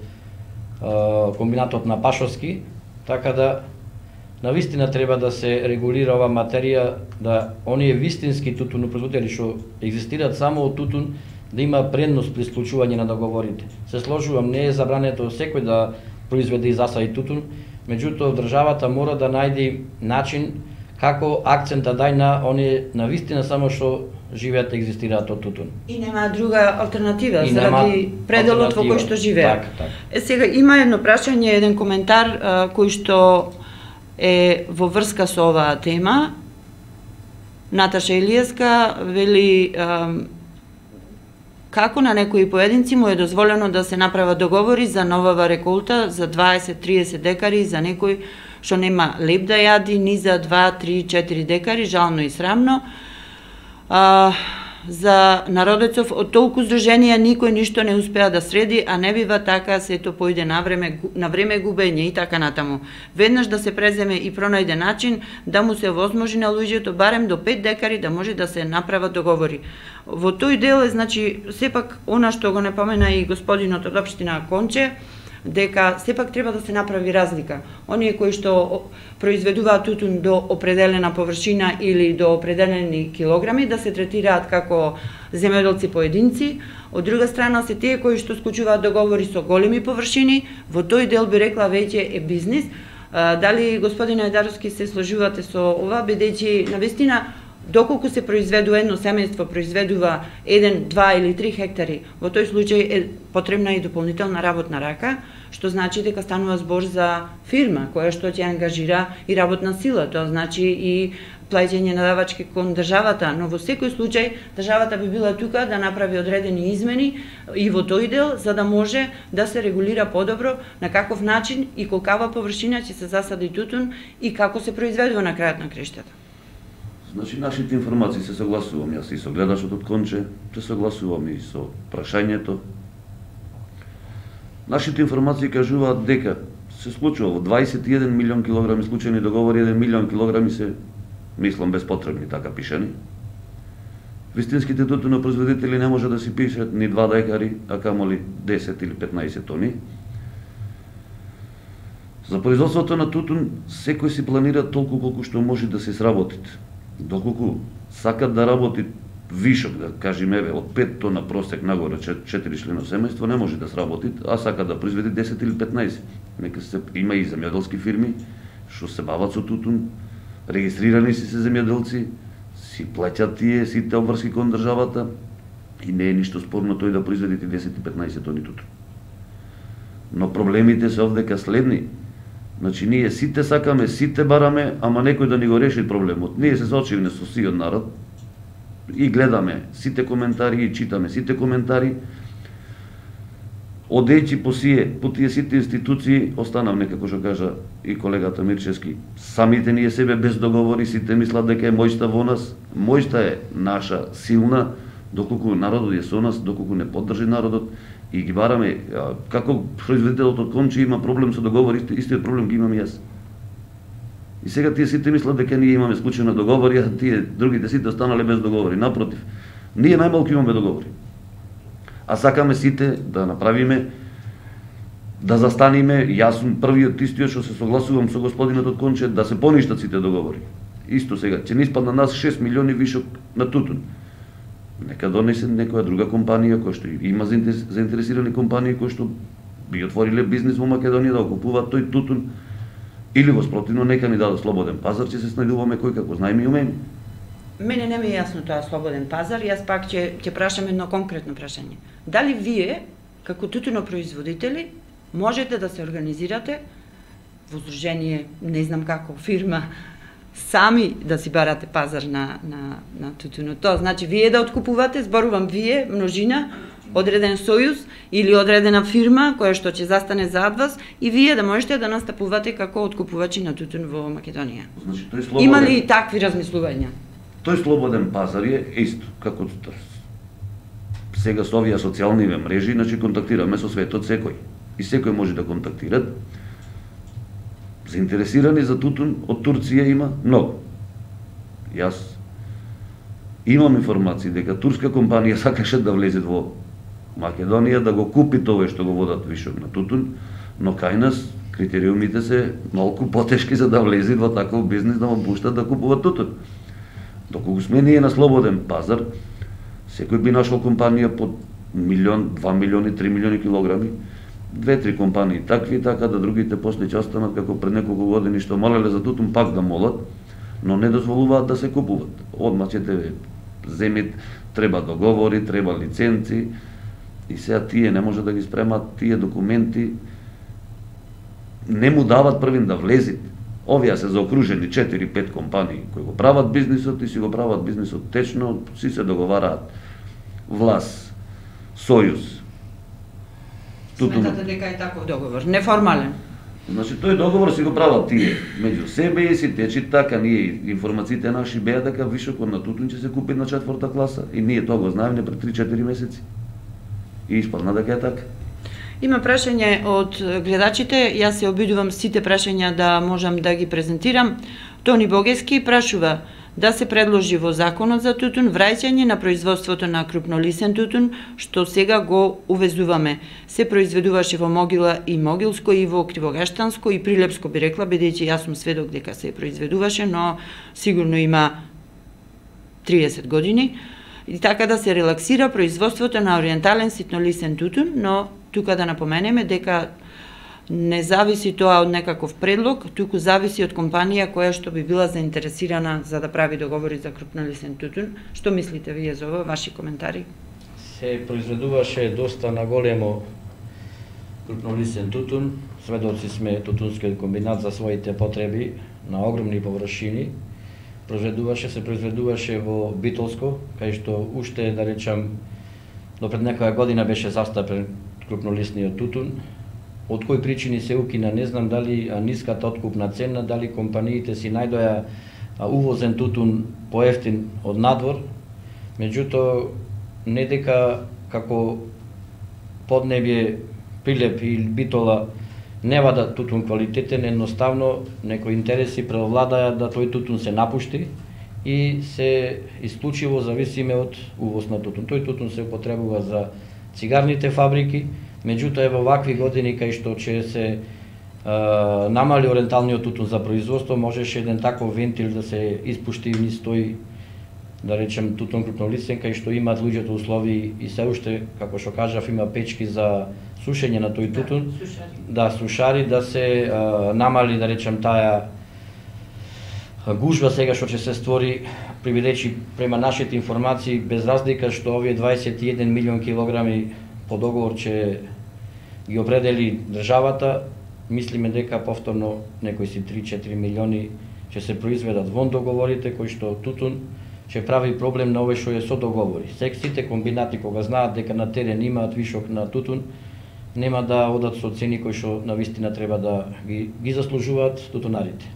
S3: комбинатот на Пашовски, така да навистина треба да се регулира оваа материја, да оние вистински тутунопроизводители што екзистираат само од тутун, да има предност при склучување на договорите. Се сложувам, не е забрането секој да произведе и засади тутун, меѓутоа државата мора да најде начин како акцент да дај на оние навистина само што живеат и екзистираат од тутун.
S2: И нема друга алтернатива заради пределот во кој што живеат.
S3: Так.
S2: Сега има едно прашање, еден коментар кој што е во врска со оваа тема. Наташа Илиевска вели како на некои поединци му е дозволено да се направат договори за новава реколта за 20-30 декари за некој што нема леп да јади ни за 2-3-4 декари, жално и срамно. За народецов од толку здруженија никој ништо не успеа да среди, а не бива така, сето појде на време губење и така натаму. Веднаш да се преземе и пронајде начин да му се возможи на луѓето барем до 5 декари да може да се направат договори. Во тој дел е, значи, сепак она што го не помена и господинот од општина Конче, дека сепак треба да се направи разлика. Оние кои што произведуваат тутун до определена површина или до определени килограми да се третираат како земјоделци поединци, од друга страна се тие кои што склучуваат договори со големи површини, во тој дел би рекла веќе е бизнис. Дали господине Ајдаровски се сложувате со ова, бидејќи навистина доколку се произведува едно семејство произведува 1, 2 или 3 хектари, во тој случај е потребна и дополнителна работна рака, што значи дека станува збор за фирма која што ќе ангажира и работна сила, тоа значи и плаќање на давачки кон државата, но во секој случај државата би била тука да направи одредени измени и во тој дел за да може да се регулира подобро на каков начин и колкава површина ќе се засади тутун и како се произведува на крајот на крештата.
S4: Значи, нашите информации се согласувам, јас и со гледачот од Конче, се согласувам и со прашањето. Нашите информации кажуваат дека се случува во 21 милион килограми случајни договори, 1 милион килограми се, мислам, безпотребни, така пишани. Вистинските тутунопроизводители не може да си пишат ни 2 декари, а камоли 10 или 15 тони. За производството на тутун, секој си планира толку колку што може да се сработит. Доколку сакат да работи вишок, да кажеме, од 5 тона просек нагоре 4 члено семејство, не може да сработи, а сакат да произведе 10 или 15. Нека се има и земјоделски фирми што се бават со тутун, регистрирани си се земјоделци, си плаќат тие сите обврски кон државата и не е ништо спорно тој да произведе 10 и 15 тони тутун. Но проблемите се овдека следни. Значи, ние сите сакаме, сите бараме, ама некој да ни го реши проблемот. Ние се соочиме со сиот народ и гледаме сите коментари и читаме сите коментари. Одејќи по тие сите институции, останав некако што кажа и колегата Мирчевски, самите ние себе без договори, сите мислат дека е мојста во нас. Мојста е наша силна, доколку народот е со нас, доколку не поддржи народот, и ги бараме, како производителот од Конче има проблем со договори, истиот проблем ги имам јас. И сега тие сите мислат дека ние имаме склучени договори, а тие другите сите останале без договори. Напротив, ние најмалку имаме договори. А сакаме сите да направиме, да застаниме, јас сум првиот истиот што се согласувам со господинот од Конче, да се поништат сите договори. Исто сега, ќе ни испадна нас 6 милиони вишок на тутун. Нека донесе некоја друга компанија која што има заинтересирани компании кои што би отвориле бизнис во Македонија да окупуваат тој тутун, или во спротивно нека ни дадат слободен пазар, ќе се снајдуваме кој како знаеме и умееме.
S2: Мене не ми е јасно тоа слободен пазар, јас пак ќе прашам едно конкретно прашање. Дали вие, како тутунопроизводители, можете да се организирате во здружение, не знам како, фирма, сами да си барате пазар на тутунот? Тоа значи вие да откупувате, зборувам вие, множина, одреден сојуз или одредена фирма која што ќе застане зад вас и вие да можете да настапувате како откупувачи на тутун во Македонија.
S4: Значи, тој слободен...
S2: Има ли такви размислувања?
S4: Тој слободен пазар е исто, како сега со овие социјални мрежи, значи контактираме со светот секој. И секој може да контактира. Заинтересирани за тутун од Турција има многу. Јас имам информации дека турска компанија сакаше да влезе во Македонија да го купи тоа што го водат вишок на тутун, но кај нас критериумите се малку потешки за да влезе во таков бизнис да му пуштат да купува тутун. Доколку сме ние на слободен пазар, секој би нашол компанија под 1 милион, 2 милиони, 3 милиони килограми, 2-3 компании такви, така да другите после ќе останат како пред неколку години што молеле за тутун пак да молат, но не дозволуваат да се купуват. Одма ќе земјите, треба договори, треба лиценци, и сега тие не може да ги спремат тие документи, не му дават првин да влезит. Овие се заокружени 4-5 компании кои го прават бизнисот и си го прават бизнисот течно, си се договараат власт, сојуз.
S2: Сметате дека е таков договор, неформален?
S4: Значи, тој договор си го прават тие меѓу себе и си течи така. Ние информациите наши беа дека вишокот на тутун ќе се купи на 4-та класа и ние тоа го знаеме пред 3-4 месеци. И испадна дека е така.
S2: Има прашање од гледачите, јас се обидувам сите прашања да можам да ги презентирам. Тони Богески прашува да се предложи во законот за тутун враќање на производството на крупнолисен тутун, што сега го увезуваме. Се произведуваше во Могила и Могилско и во Кривогаштанско и Прилепско, би рекла, бидејќи јас сум сведок дека се произведуваше, но сигурно има 30 години. И така да се релаксира производството на ориентален ситнолисен тутун, но тука да напоменеме дека Не зависи тоа од некаков предлог, туку зависи од компанија која што би била заинтересирана за да прави договори за крупнолистен тутун. Што мислите вие за ова? Ваши коментари?
S3: Се произведуваше доста на големо крупнолистен тутун. Сведоци сме тутунскиот комбинат за своите потреби на огромни површини. Се произведуваше во Битолско, кај што уште, да речам, до пред некоја година беше застапен крупнолистниот тутун. Од кои причини се укина, не знам, дали ниската откупна цена, дали компаниите си најдоја увозен тутун поевтин од надвор. Меѓутоа, не дека како Поднебје, Прилеп или Битола не вада тутун квалитетен, едноставно некои интереси преовладаја да тој тутун се напушти и се исклучиво зависиме од увоз на тутун. Тој тутун се употребува за цигарните фабрики, меѓутоа во вакви години кај што ќе се намали оренталниот тутун за производство, можеше еден таков вентил да се испушти низ тој, да речем, тутун крупнолистен, кај што имаат луѓето услови и се уште, како што кажав, има печки за сушење на тој тутун, сушари, да се намали, да речем, таа гужва сега што ќе се створи, приведечи према нашите информации, без разлика што овие 21 милион килограми по договор ќе ги определи државата, мислиме дека повторно некои си 3-4 милиони ќе се произведат вон договорите, кои што тутун ќе прави проблем на овој што е со договори. Сите комбинати кога знаат дека на терен имаат вишок на тутун, нема да одат со цени кои што навистина треба да ги заслужуваат тутунарите.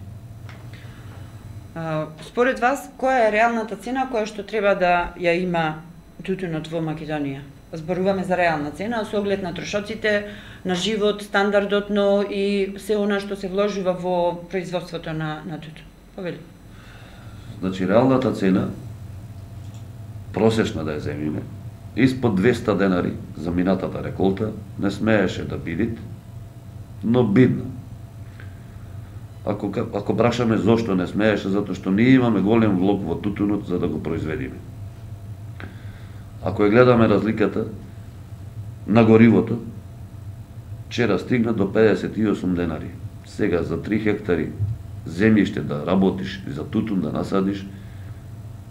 S2: Според вас, која е реалната цена која што треба да ја има тутунот во Македонија? Зборуваме за реална цена, со оглед на трошоците, на живот, стандардот, но и се она што се вложува во производството на тутун. Повели.
S4: Значи, реалната цена, просечна да ја земиме, испод 200 денари за минатата реколта, не смееше да бидит, но бидна. Ако прашаме зошто не смееше, затоа што ние имаме голем влог во тутунот за да го произведиме. Ако ја гледаме разликата на горивото, вчера стигна до 58 денари. Сега за 3 хектари земјиште да работиш и за тутун да насадиш,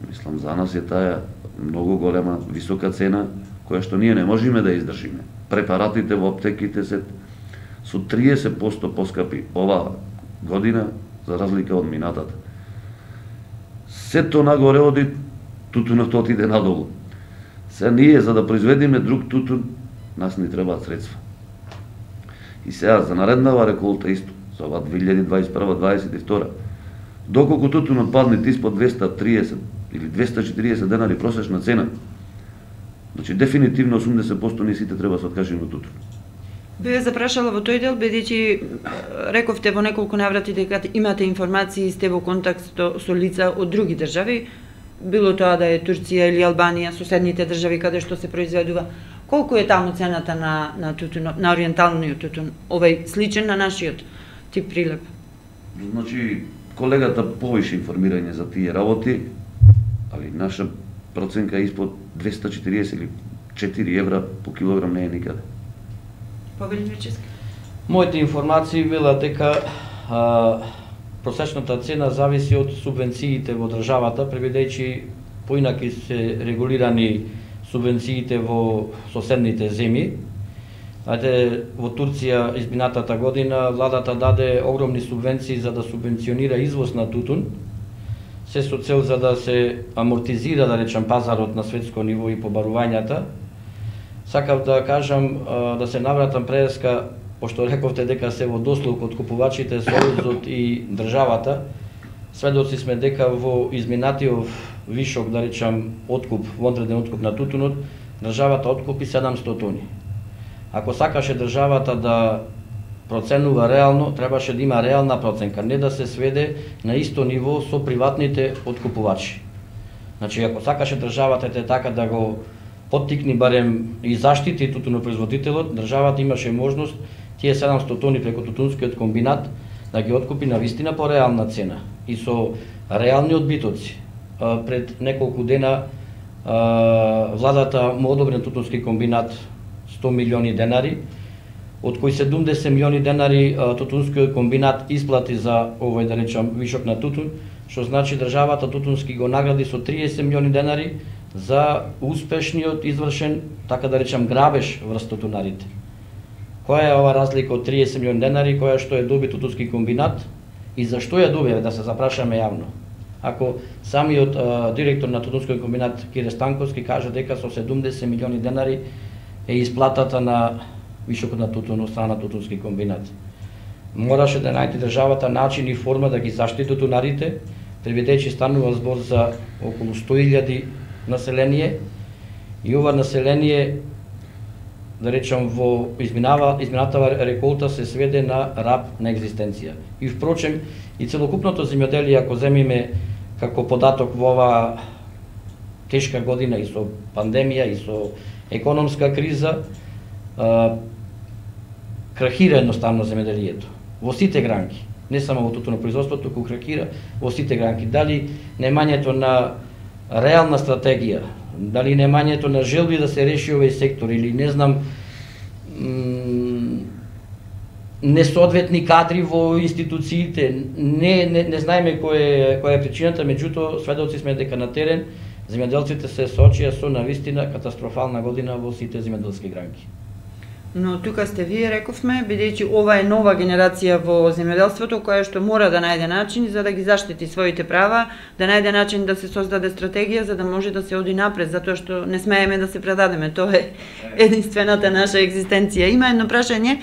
S4: мислам за нас е таа многу голема, висока цена, која што ние не можеме да издржиме. Препаратите во аптеките се со 30% поскапи оваа година, за разлика од минатата. Сето нагоре оди, тутунот отиде надолу. Сега ние, за да произведиме друг тутун, нас ни требаат средства. И сега, за нареднава реколта исто, за ова 2021-2022, доколку тутунот падне испод 230 или 240 денари просечна цена, значи дефинитивно 80% ние сите треба се откажеме од тутун.
S2: Бе запрашала во тој дел, бидејќи рековте во неколку наврати дека имате информации и сте во контакт со лица од други држави, било тоа да е Турција или Албанија, соседните држави каде што се произведува. Колку е таму цената на тутунот, на ориенталниот тутун, овој сличен на нашиот тип Прилеп?
S4: Значи, колегата повише информирање за тие работи, али наша проценка испод 240 или 4 евра по килограм не е никаде.
S2: Повели Мирчевски?
S3: Моите информации била дека просечната цена зависи од субвенциите во државата, преведејќи поинаки се регулирани субвенциите во соседните земји. Во Турција изминатата година владата даде огромни субвенции за да субвенционира извоз на тутун, се со цел за да се амортизира, да речем, пазарот на светско ниво и побарувањата. Сакав да кажам, да се навратам преска, пошто рековте дека се во дослуг од купувачите, Сојузот и државата, сведоци сме дека во изминатиот вишок, да речам, откуп, вонтреден откуп на тутунот, државата откупи 700 тони. Ако сакаше државата да проценува реално, требаше да има реална проценка, не да се сведе на исто ниво со приватните откупувачи. Значи, ако сакаше државата така да го поттикни барем и заштити тутунопроизводителот, државата имаше можност тие 700 тони преку тутунскиот комбинат да ги откупи на вистина по реална цена и со реални одбитоци. Пред неколку дена владата му одобри на тутунски комбинат 100 милиони денари, од кои 70 милиони денари Тутунскиот комбинат исплати за овој, да речам, вишок на тутун, што значи државата Тутунски го награди со 30 милиони денари за успешниот извршен, така да речам, грабеж врз тутунарите. Која е ова разлика од 30 милиони денари, која што е доби Тутунски комбинат и зашто ја доби, да се запрашаме јавно? Ако самиот директор на Тутунскиот комбинат Кире Станковски каже дека со 70 милиони денари е исплатата на вишокот на тутун од страна на Тутунски комбинат. Мораше да најде државата начин и форма да ги заштити тутунарите, преведејќи станува збор за околу 100.000 население и ова население, да речам, во изминатава реколта се сведе на раб на екзистенција. И впрочем, и целокупното земјоделие, ако земиме како податок во ова тешка година и со пандемија и со економска криза, крахира едноставно земјоделието во сите гранки, не само во тутунопроизводството, туку крахира во сите гранки. Дали немањето на реална стратегија, дали немањето на желби да се реши овој сектор или не знам, несоодветни кадри во институциите, не знаеме која е причината, меѓутоа сведоци сме дека на терен земјоделците се соочија со навистина катастрофална година во сите земјоделски гранки.
S2: Но тука сте вие, рековме, бидејќи ова е нова генерација во земјоделството која што мора да најде начин за да ги заштити своите права, да најде начин да се создаде стратегија за да може да се оди напред, затоа што не смееме да се предадеме. Тоа е единствената наша екзистенција. Има едно прашање.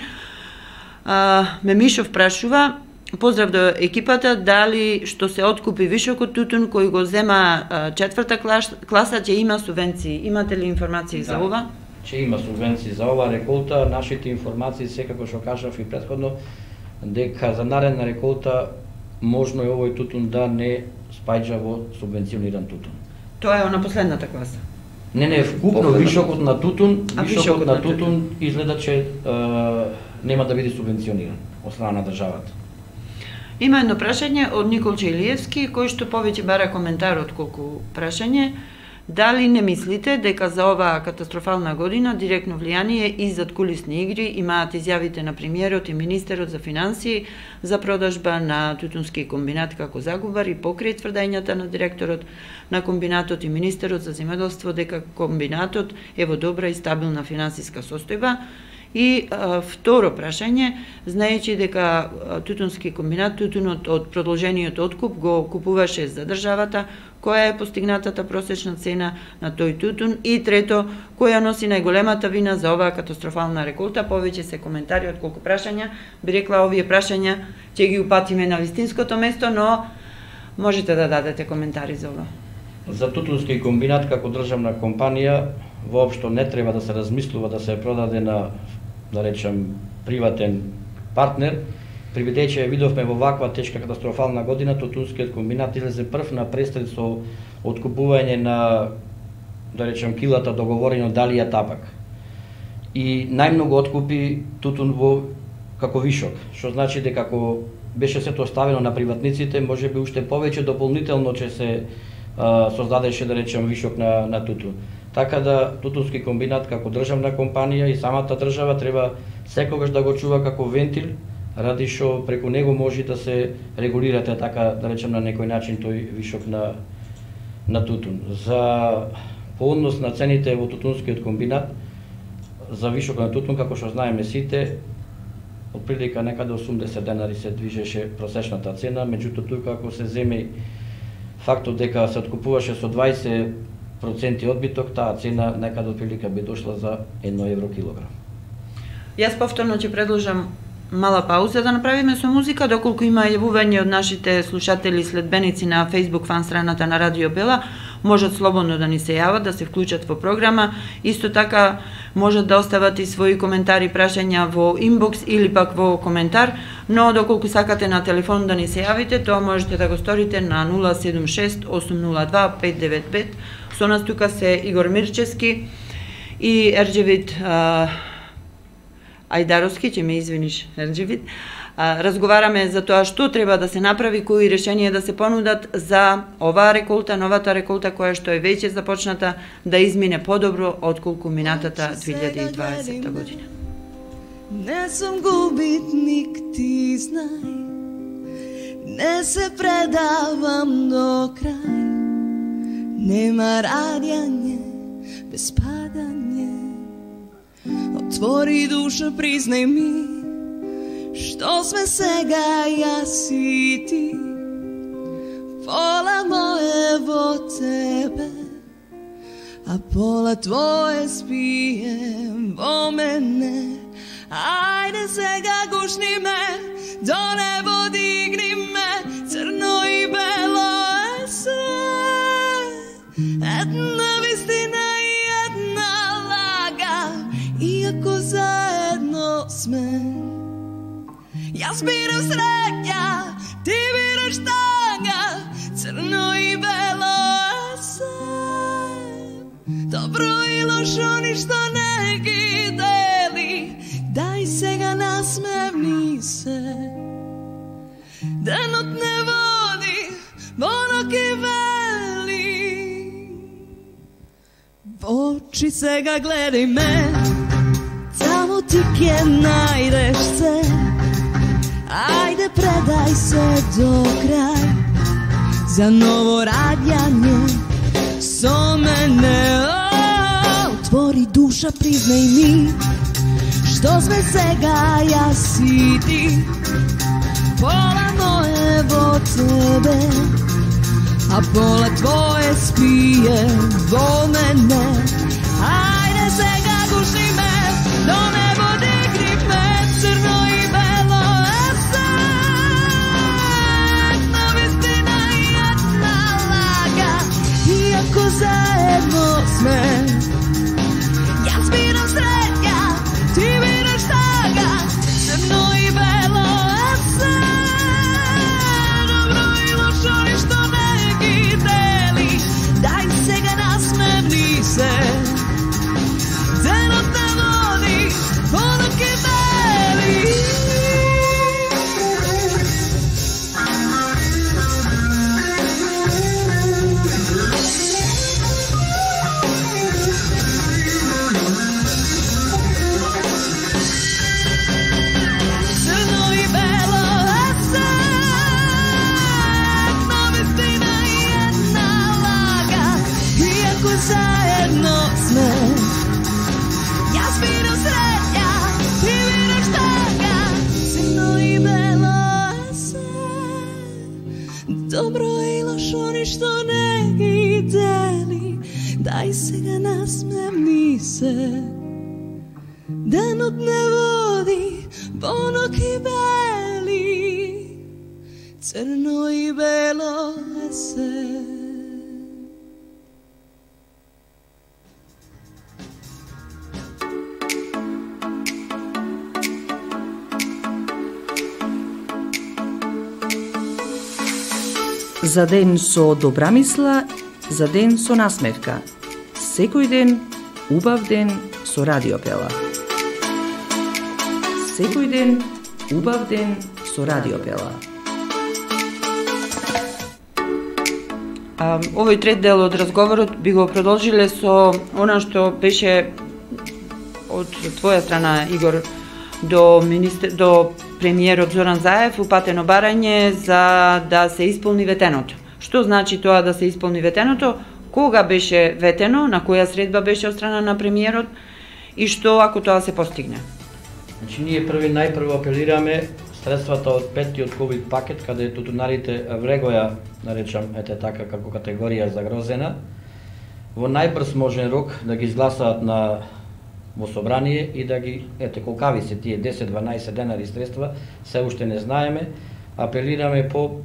S2: Мемишов прашува: поздрав до екипата, дали што се откупи вишокот тутун кој го зема 4-та класа, ќе има субвенции? Имате ли информации за ова?
S3: Че има субвенции за ова реколта. Нашите информации, секако што кажав и претходно, дека за наредна реколта можно е овој тутун да не спаѓа во субвенциониран тутун.
S2: Тоа е на последната класа?
S3: Не, вкупно вишокот на тутун, вишокот на тутун изгледа че нема да биде субвенциониран од страна на државата.
S2: Има едно прашање од Никол Чаилиевски, кој што повеќе бара коментар отколку прашање. Дали не мислите дека за оваа катастрофална година директно влијание и задкулисни игри имаат изјавите на премиерот и министерот за финансии за продажба на Тутунски комбинат како загубар и покрај тврдењата на директорот на комбинатот и министерот за земјоделство дека комбинатот е во добра и стабилна финансиска состојба? И второ прашање, знаејќи дека Тутунски комбинат, тутунот од продолжениот откуп го купуваше за државата, која е постигнатата просечна цена на тој тутун? И трето, која носи најголемата вина за оваа катастрофална реколта? Повеќе се коментари отколку прашања. Би рекла, овие прашања ќе ги упатиме на вистинското место, но можете да дадете коментари за ова.
S3: За Тутунски комбинат како државна компанија воопшто не треба да се размислува да се продаде на, да речем, приватен партнер, прибедејќи видовме во ваква тешка катастрофална година, Тутунскиот комбинат излезе прв на престрел со откупување на, да речем, килата договорено далија табак. И најмногу откупи тутун во како вишок, што значи дека ако беше сето оставено на приватниците, може би уште повеќе дополнително ќе се создадеше, да речем, вишок на тутун. Така да Тутунски комбинат како државна компанија и самата држава треба секогаш да го чува како вентил, ради што преку него може да се регулирате, така да речем, на некој начин тој вишок на тутун. За по однос на цените во Тутунскиот комбинат, за вишок на тутун, како што знаеме сите, отприлика некаде 80 денари се движеше просечната цена, меѓутоа тука ако се земе фактот дека се откупуваше со 20% одбиток, таа цена некаде отприлика би дошла за 1 евро килограм.
S2: Јас повторно ќе предложам мала пауза да направиме со музика, доколку има јавување од нашите слушатели и следбеници на Facebook фан страната на Радио Бела, можат слободно да ни се јават, да се вклучат во програма. Исто така можат да остават и своји коментари, прашања во инбокс или пак во коментар, но доколку сакате на телефон да ни се јавите, тоа можете да го сторите на 076 802 595. Со нас тука се Игор Мирчевски и Ерџевит Ајдаровски, ќе ме извиниш, Ерџевит. Разговараме за тоа што треба да се направи, кои решенија да се понудат за оваа реколта, новата реколта која што е веќе започната да измине подобро отколку минатата 2020 година.
S7: Не сум губитник, ти знај, не се предавам до крај. Нема радјање без падање. Отвори душа, признај ми, што сме сега јас и ти. Пола мое во тебе, а пола твое спием во мене. Ајде сега гушни ме, до небо дигни ме, црно и бело е се. Една вистина и една лага, иако заедно сме. Јас бирам среќа, ти бираш тага, црно и бело е се. Добро и лошо ништо не ги дели, дај сега насмевни се. Денот не води, во ноќ вели. Во очи сега гледај ме, само ти ќе најдеш се. Ајде предај се до крај, за ново раѓање со мене. Отвори душа, признај ми, што сме сега јас и ти. Пола мое во тебе, а пола твое спие во мене. Ајде сега гушни ме, до небо дигни ме, црно и бело е се. Една вистина и една лага, иако заедно сме. Јас бирам среќа, ти бираш тага, црно и бело е се. Добро и лошо ништо не ги дели, дај сега насмевни се. Денот не води, во ноќ вели. Заедно сме. Јас бирам среќа, ти бираш тага, црно и бело е се. Добро и лошо ништо не ги дели, дај сега насмевни се. Денот не води, во ноќ бели, црно и бело е се.
S1: За ден со добра мисла, за ден со насмевка. Секој ден, убав ден со Радиопела. Секој ден, убав ден со Радиопела.
S2: Овој трет дел од разговорот би го продолжиле со она што беше од твоја страна, Игор, до премиерот Зоран Заев упатено барање за да се исполни ветеното. Што значи тоа да се исполни ветеното? Кога беше ветено, на која средба беше од страна на премиерот и што ако тоа се постигне?
S3: Значи ние најпрво апелираме средствата од петтиот ковид пакет, каде тутунарите влегоја, наречам, така како категорија загрозена, во најбрз можен рок да ги изгласаат во собрание и да ги, колкави се тие 10-12 денари средства, се уште не знаеме. Апелираме по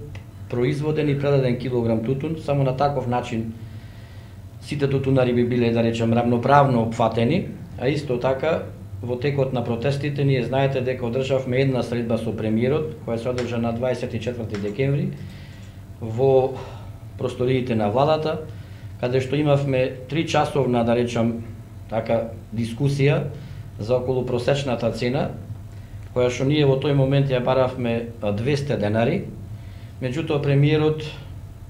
S3: производен и предаден килограм тутун, само на таков начин сите тутунари би биле, да речем, равноправно опфатени, а исто така во текот на протестите ние знаете дека одржавме една средба со премиерот, која се одржа на 24 декември во просториите на владата, каде што имавме 3 часовна, да речем, така дискусија за околу просечната цена, која што ние во тој момент ја баравме 200 денари. Меѓутоа премиерот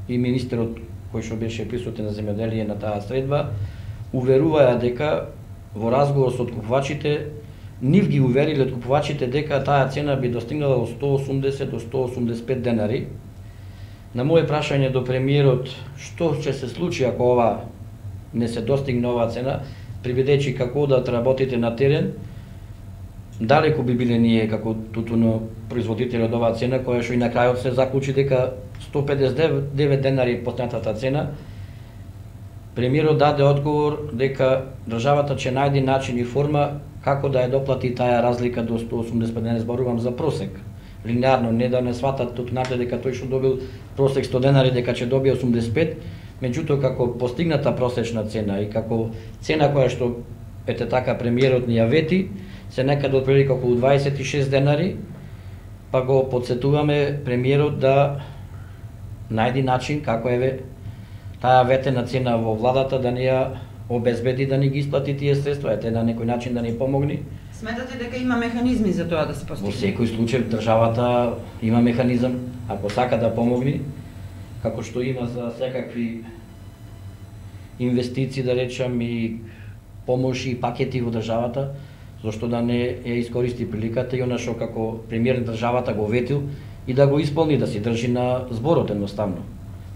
S3: и министерот кој што беше присутен на земјоделие на таа средба уверуваја дека во разговор со откупувачите нив ги увериле откупувачите дека таа цена би достигнала од 180 до 185 денари. На моje прашање до премиерот што ќе се случи ако ова не се достигне оваа цена, приведечи како да работите на терен, далеку би биле ние како тутуно производители од оваа цена, која што и на крајот се заклучи дека 159 денари поснатата цена. Премиерот даде одговор дека државата ќе најде начин и форма како да ја доплати таа разлика до 185 денари, зборувам за просек. Линеарно, не да не сватат тутунарите дека тој што добил просек 100 денари дека ќе добие 85, меѓутоа како постигната просечна цена и како цена која што ете така премиерот ни ја вети, се некаде отприлика околу 26 денари, па го подсетуваме премиерот да најди начин како еве таа ветена цена во владата да ни ја обезбеди да ни ги исплати тие средства, ете на некој начин да ни помогне.
S2: Сметате дека има механизми за тоа да се постигне?
S3: Во секој случај државата има механизам, ако сака да помогне, како што има за секакви инвестиции, да речам, и помоши и пакети во државата, зашто да не ја искористи приликата и она што како премиер на државата го ветил и да го исполни, да се држи на зборот едноставно.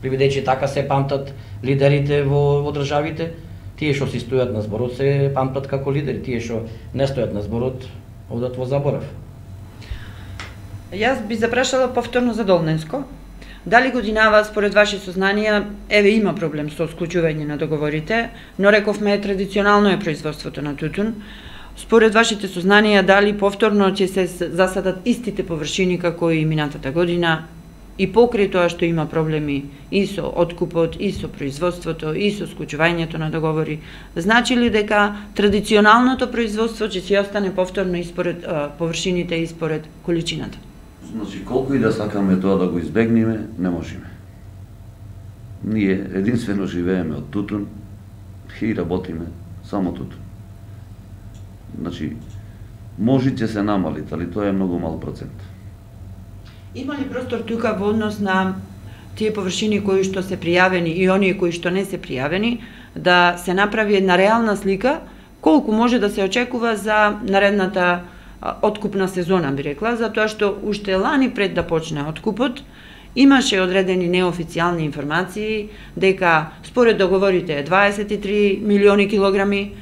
S3: Приведечи така се памтат лидерите во државите, тие што си стојат на зборот се памтат како лидери, тие што не стојат на зборот одат во заборав.
S2: Јас би запрашала повторно за Долненско. Дали годинава според ваши сознанија, еве има проблем со склучување на договорите, но рековме традиционално е производството на тутун. Според вашите сознанија, дали повторно ќе се засадат истите површини како и минатата година, и покрај тоа што има проблеми и со откупот, и со производството, и со склучувањето на договори, значи ли дека традиционалното производство ќе си остане повторно испоред површините и според количината?
S4: Значи, колку и да сакаме тоа да го избегнеме, не можеме. Ние единствено живееме од тутун и работиме само тутун. Значи, може ќе се намали, али тоа е многу мал процент.
S2: Има ли простор тука во однос на тие површини кои што се пријавени и оние кои што не се пријавени, да се направи една реална слика колку може да се очекува за наредната откупна сезона, би рекла, затоа што уште лани пред да почне откупот, имаше одредени неофицијални информации дека според договорите 23 милиони килограми,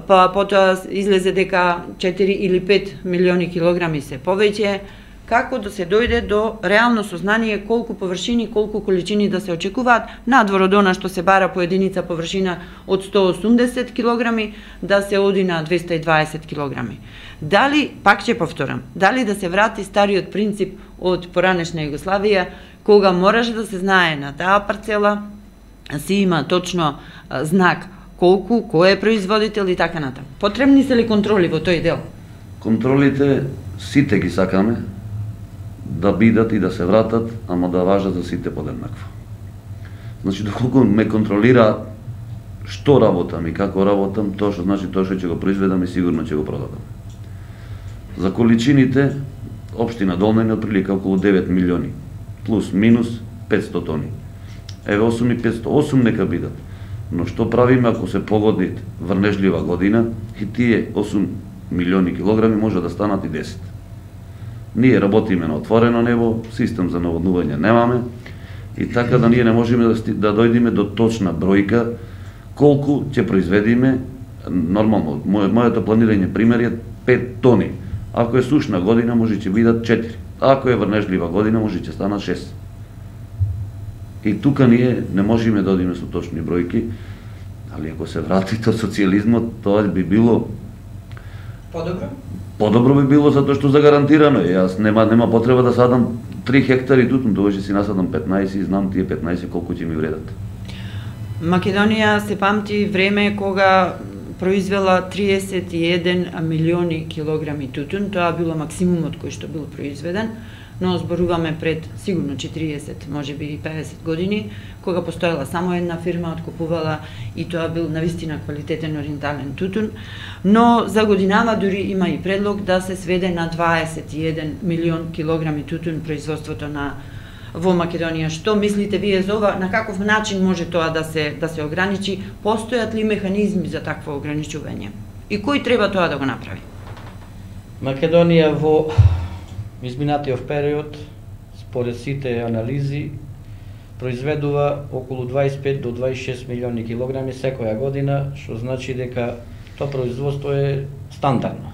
S2: па потоа излезе дека 4 или 5 милиони килограми се повеќе, како да се дојде до реално сознание колку површини, колку количини да се очекуваат, надвор од она што се бара по единица површина од 180 килограми, да се оди на 220 килограми. Дали, пак ќе повторам, дали да се врати стариот принцип од поранешна Југославија, кога мораше да се знае на таа парцела, си има точно знак колку, кој е производител и така натаму. Потребни се ли контроли во тој дел?
S4: Контролите сите ги сакаме да бидат и да се вратат, ама да важат за сите подеднакво. Значи, доколку ме контролира што работам и како работам, тоа што значи тоа што ќе го произведам и сигурно ќе го продадам. За количините, општина Долнен е отприлика околу 9 милиони, плюс минус 500 тони. Еве 8.500, 8 нека бидат. Но што правиме ако се погоди врнежлива година и тие 8 милиони килограми може да станат и 10. Ние работиме на отворено небо, систем за наводнување немаме и така да ние не можеме да дојдеме до точна бројка колку ќе произведиме. Нормално, моето планирање пример е 5 тони. Ако е сушна година може ќе бидат 4. Ако е врнежлива година може ќе станат 6. И тука ние не можеме да одиме со точни бројки, али ако се врати до социјализмот, тоа би било
S2: подобро?
S4: Подобро би било затоа што загарантирано е. Јас нема потреба да садам 3 хектари тутун, довеќе си насадам 15 и знам тие 15 колку ќе ми вредат.
S2: Македонија се памти време кога произвела 31 милиони килограми тутун, тоа било максимумот кој што бил произведен, но зборуваме пред сигурно 40, можеби и 50 години, кога постоела само една фирма, откупувала и тоа бил навистина квалитетен ориентален тутун, но за годинава дури има и предлог да се сведе на 21 милион килограми тутун производството во Македонија. Што мислите вие за ова? На каков начин може тоа да се ограничи? Постојат ли механизми за такво ограничување? И кој треба тоа да го направи?
S3: Македонија во изминатиот период, според сите анализи, произведува околу 25 до 26 милиони килограми секоја година, што значи дека тоа производство е стандардно.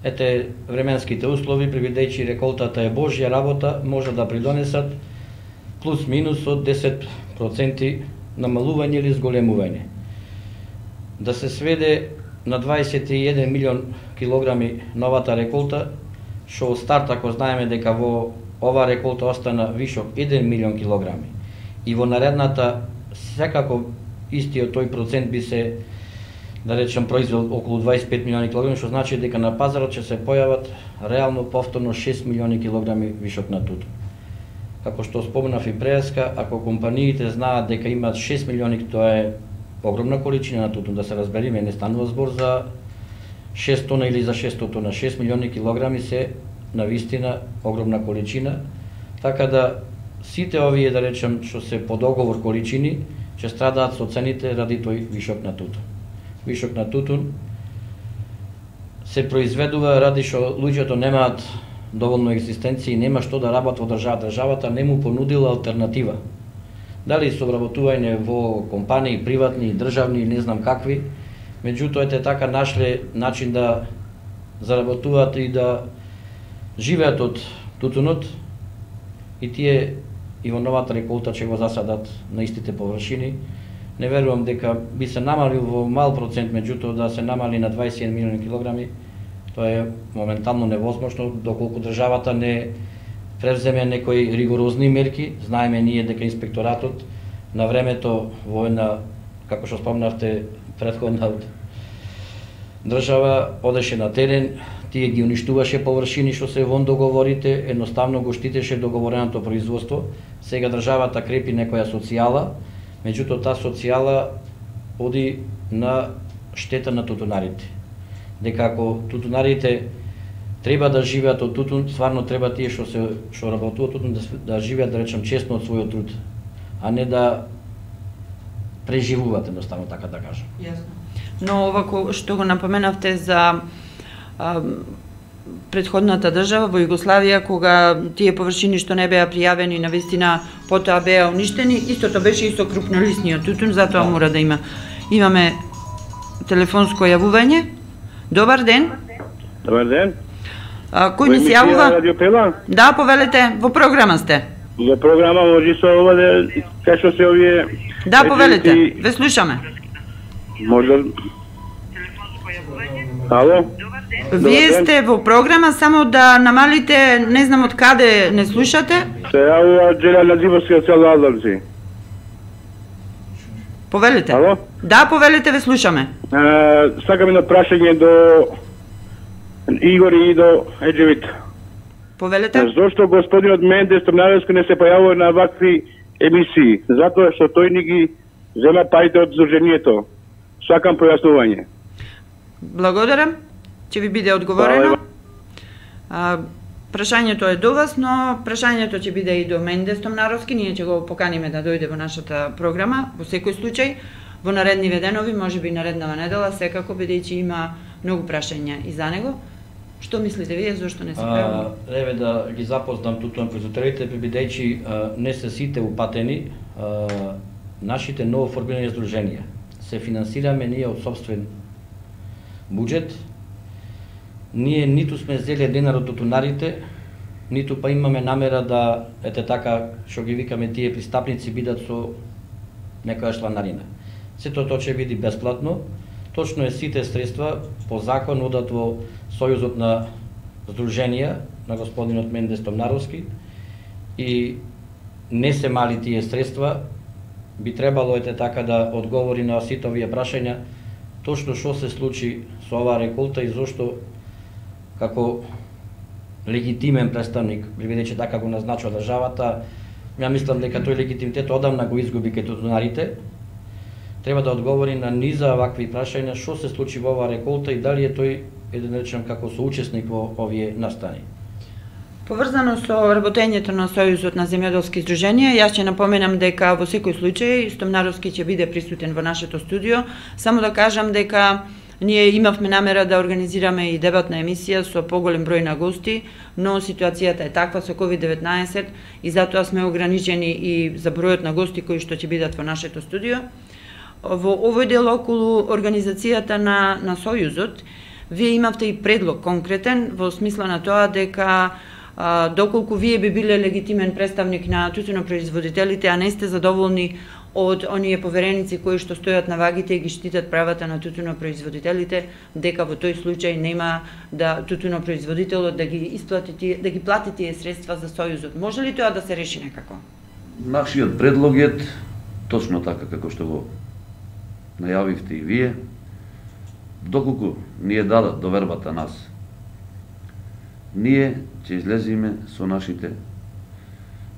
S3: Ете, временските услови, предвидејќи реколтата е Божја работа, може да придонесат плюс-минус од 10% намалување или зголемување. Да се сведе на 21 милион килограми новата реколта, што од старт, ако знаеме дека во ова реколта остана вишок 1 милион килограми и во наредната секако истиот тој процент би се, да речем, произвел околу 25 милиони килограми, што значи дека на пазарот ќе се појават реално повторно 6 милиони килограми вишок на тутун. Како што споменав и преска, ако компаниите знаат дека имаат 6 милиони, тоа е огромна количина на тутун, да се разбериме, не станува збор за 6 тона или за 600 тона, 6 милиони килограми се навистина огромна количина, така да сите овие, да речем, што се по договор количини, ќе страдаат со цените ради тој вишок на тутун. Вишок на тутун се произведува ради што луѓето немаат доволно екзистенција и нема што да работат во државата. Државата не му понудила алтернатива. Дали со вработување во компании, приватни, државни, не знам какви, меѓутоа ете така нашле начин да заработуваат и да живеат од тутунот и тие и во новата реколта ќе го засадат на истите површини. Не верувам дека би се намалил во мал процент, меѓутоа да се намали на 21 милиони килограми, тоа е моментално невозможно доколку државата не превземе некои ригорозни мерки. Знаеме ние дека инспекторатот на времето во една, како што спомнавте, претходна држава одеше на терен, тие ги уништуваше површини што се вон договорите, едноставно го штитеше договореното производство. Сега државата крепи некоја социјала, меѓутоа таа социјала оди на штета на тутунарите. Дека ако тутунарите треба да живеат од тутун, стварно треба тие што работуваат тутун да живеат, да речем, честно од својот труд, а не да преживуваат, едноставно така да кажам.
S2: Јасно. Но ова што го напоменавте за претходната држава во Југославија, кога тие површини што не беа пријавени навистина потоа беа уништени, истото беше и со крупнолисниот тутун, затоа мора да има. Имаме телефонско јавување. Добар ден.
S8: Добар ден.
S2: Кој ни се јавува? Да, повелете, во програма сте.
S8: За програма може со ова да кај се овие.
S2: Да, повелете, ве слушаме.
S8: Може. Ало?
S2: Вие сте во програма, само да намалите, не знам од каде не слушате.
S8: Се јавува Джелена Дивовска цел Алдамци.
S2: Повелете.
S8: Ало?
S2: Да, повелете, ве слушаме.
S8: Сакам едно прашање до Игор и до Еджевит.
S2: Повелете.
S8: Зошто господинот Мендес Томнаровски не се појавува на вакви емисии? Затоа што тој ни ги зема парите од Сдруженијето. Сакам појаснување.
S2: Благодарам. Ќе ви биде одговорено. Прашањето е до вас, но прашањето ќе биде и до Мендес Томнаровски. Ние ќе го поканиме да дојде во нашата програма, во секој случај. Во наредни денови, можеби нареднава недела, секако, бидејќи има многу прашања и за него. Што мислите вие, зошто не се појавува?
S3: Еве да ги запознам тутун производителите, бидејќи не се сите упатени, нашите новоформирани здруженија се финансираме ние од сопствен буџет. Ние ниту сме зеле денар од тутунарите, ниту па имаме намера да, ете така, што ги викаме тие пристапници, бидат со некоја чланарина. Сето тоа ќе биде бесплатно. Точно е сите средства по закон одат во Сојузот на здруженија на господинот Мендес Томнаровски и не се мали тие средства. Би требало ете така да одговори на сите овие прашања точно што се случи со оваа реколта и зошто како легитимен представник, бидејќи така го назначува државата, ја мислам дека тој легитимитет одамна го изгуби кај тутунарите. Треба да одговори на низа вакви прашања што се случи во оваа реколта и дали е тој, да речем, како соучесник во овие настани.
S2: Поврзано со работењето на Сојузот на земјоделски здруженија, јас ќе напоменам дека во секој случај Стомнаровски ќе биде присутен во нашето студио. Само да кажам дека Ние имавме намера да организираме и дебатна емисија со поголем број на гости, но ситуацијата е таква со COVID-19 и затоа сме ограничени и за бројот на гости кои што ќе бидат во нашето студио. Во овој дел околу организацијата на Сојузот, вие имавте и предлог конкретен во смисла на тоа дека доколку вие би биле легитимен представник на тутунопроизводителите, а не сте задоволни од оние повереници кои што стојат на вагите и ги штитат правата на тутунопроизводителите, дека во тој случај нема да тутунопроизводителот да ги исплати, да ги плати тие средства за Сојузот. Може ли тоа да се реши некако?
S4: Нашиот предлог е точно така како што го најавивте и вие. Доколку ни е дадат довербата нас, ние ќе излеземе со нашите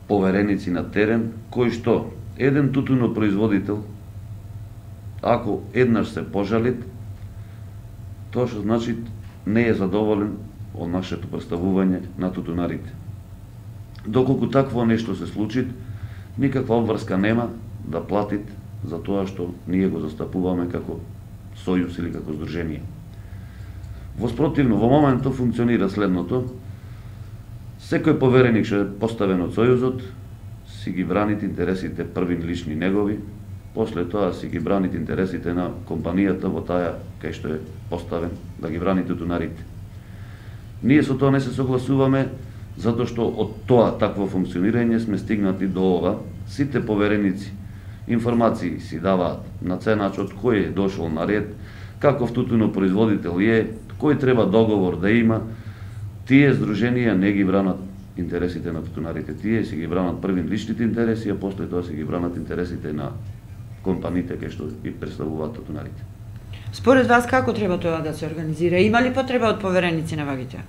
S4: повереници на терен, кои што еден тутунопроизводител, ако еднаш се пожалит, тоа што значи не е задоволен од нашето представување на тутунарите. Доколку такво нешто се случи, никаква обврска нема да платит за тоа што ние го застапуваме како сојуз или како здружение. Воспротивно, во моментот функционира следното: секој повереник што е поставен од сојузот си ги бранит интересите првин лични негови, после тоа си ги бранит интересите на компанијата во таа кај што е поставен да ги брани тутунарите. Ние со тоа не се согласуваме, затоа што од тоа такво функционирање сме стигнати до ова. Сите повереници информации си даваат на ценачот кој е дошол на ред, каков тутунопроизводител е, кој треба договор да има. Тие здруженија не ги бранат интересите на тутунарите, тие си ги бранат првин личните интереси, а после тоа си ги бранат интересите на компаниите кај што ги представуваат тутунарите.
S2: Според вас како треба тоа да се организира? Има ли потреба од повереници на вагите?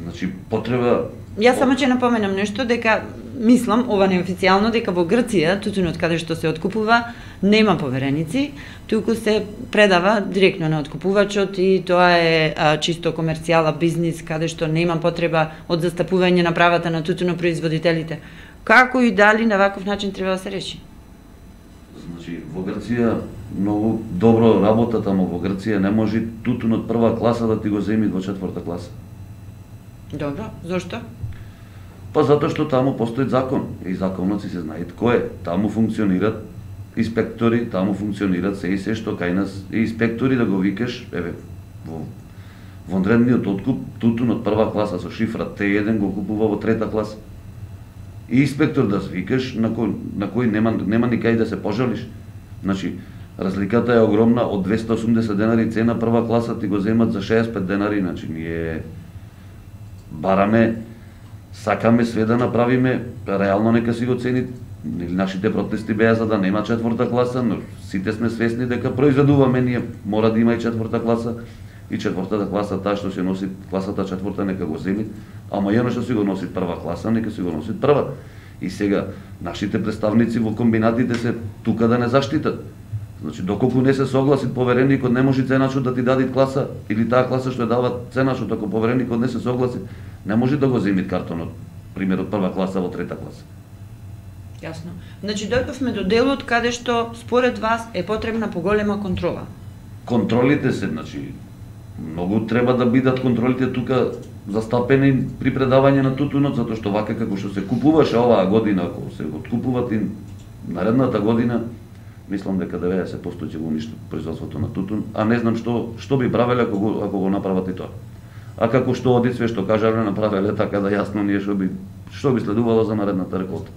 S4: Значи, потреба...
S2: Јас само ќе напоменам нешто, дека мислам, ова неофицијално, дека во Грција, тутунот каде што се откупува, нема повереници, туку се предава директно на откупувачот и тоа е чисто комерцијала бизнис, каде што нема потреба од застапување на правата на тутунопроизводителите. Како и дали на ваков начин треба да се реши?
S4: Значи, во Грција многу добро работат, ама во Грција не може тутунот прва класа да ти го земи во четврта класа.
S2: Добро, зошто?
S4: Па затоа што таму постои закон и законот си се знае кој е. Таму функционират инспектори, таму функционират се и се што кај нас и инспектори да го викаш, еве, во вонредниот откуп тутунот прва класа со шифра Т1 го купува во трета класа. И инспектор да свикаш на кој нема ни кај да се пожалиш. Значи, разликата е огромна, од 280 денари цена прва класа ти го земат за 65 денари, значи ние бараме, сакаме све да направиме, реално нека си го цени. Нашите протести беа за да нема четврта класа, но сите сме свесни дека произведуваме ние, мора да има и четврта класа, и четвртата класа, таа што се носи класата четврта, нека го земи, ама и оно што си го носи прва класа, нека си го носи прва. И сега, нашите представници во комбинатите се тука да не заштитат. Значи, доколку не се согласи повереникот, не може ценачот да ти даде класа, или таа класа што ја дава ценачот, ако повереникот не се согласи, не може да го земи картонот, пример од прва класа во трета класа.
S2: Јасно. Значи, дојдовме до делот каде што, според вас, е потребна поголема контрола.
S4: Контролите се, значи, многу треба да бидат контролите тука застапени при предавање на тутунот, затоа што вака како што се купуваше оваа година, ако се откупуват и наредната година, мислам дека 90% ќе го уништи производството на тутун, а не знам што би правеле ако го направат и тоа. А како што оди све што кажале направеле, така да јасно ние што би следувало за наредната реколта.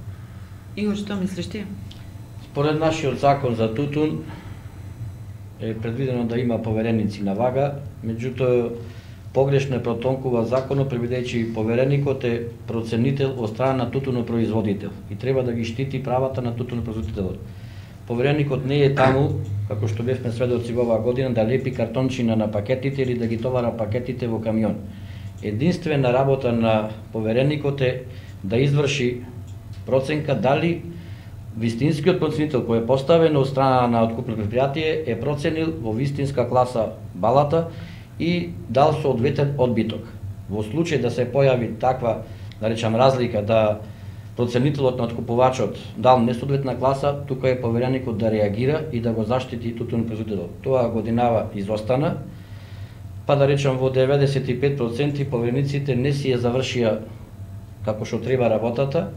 S2: Игор, што мислиш ти?
S3: Според нашиот закон за тутун е предвидено да има повереници на вага, меѓутоа погрешно протонкува законот, предвидејќи повереникот е проценител од страна на тутунопроизводител и треба да ги штити правата на тутунопроизводителот. Повереникот не е таму, како што бевме сведоци во оваа година, да лепи картончина на пакетите или да ги товара пакетите во камион. Единствена работа на повереникот е да изврши проценка дали вистинскиот проценител кој е поставен од страна на откупно предпријатие е проценил во вистинска класа балата и дал соодветен одбиток. Во случај да се појави таква, да речам, разлика, да проценителот на откупувачот дал несоодветна класа, тука е повереникот да реагира и да го заштити тутунопроизводителот. Тоа годинава изостана па да речам во 95% поверениците не си ја завршија како што треба работата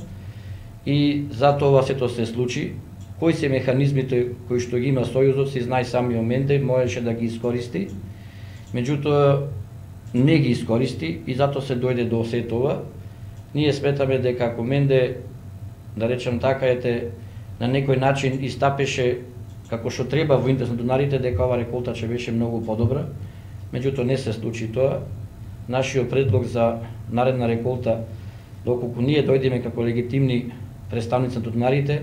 S3: и затоа сето се случи. Кои се механизмите кои што ги има Сојузот, се знае самиот Менде, можеше да ги искористи, меѓутоа не ги искористи и затоа се дојде до се тоа. Ние сметаме дека ако Менде, да речем така, на некој начин истапеше како што треба во интерес на донарите, дека ова реколта ќе беше многу подобра, меѓутоа не се случи тоа. Нашиот предлог за наредна реколта, доколку ние дојдеме како легитимни представници на донарите,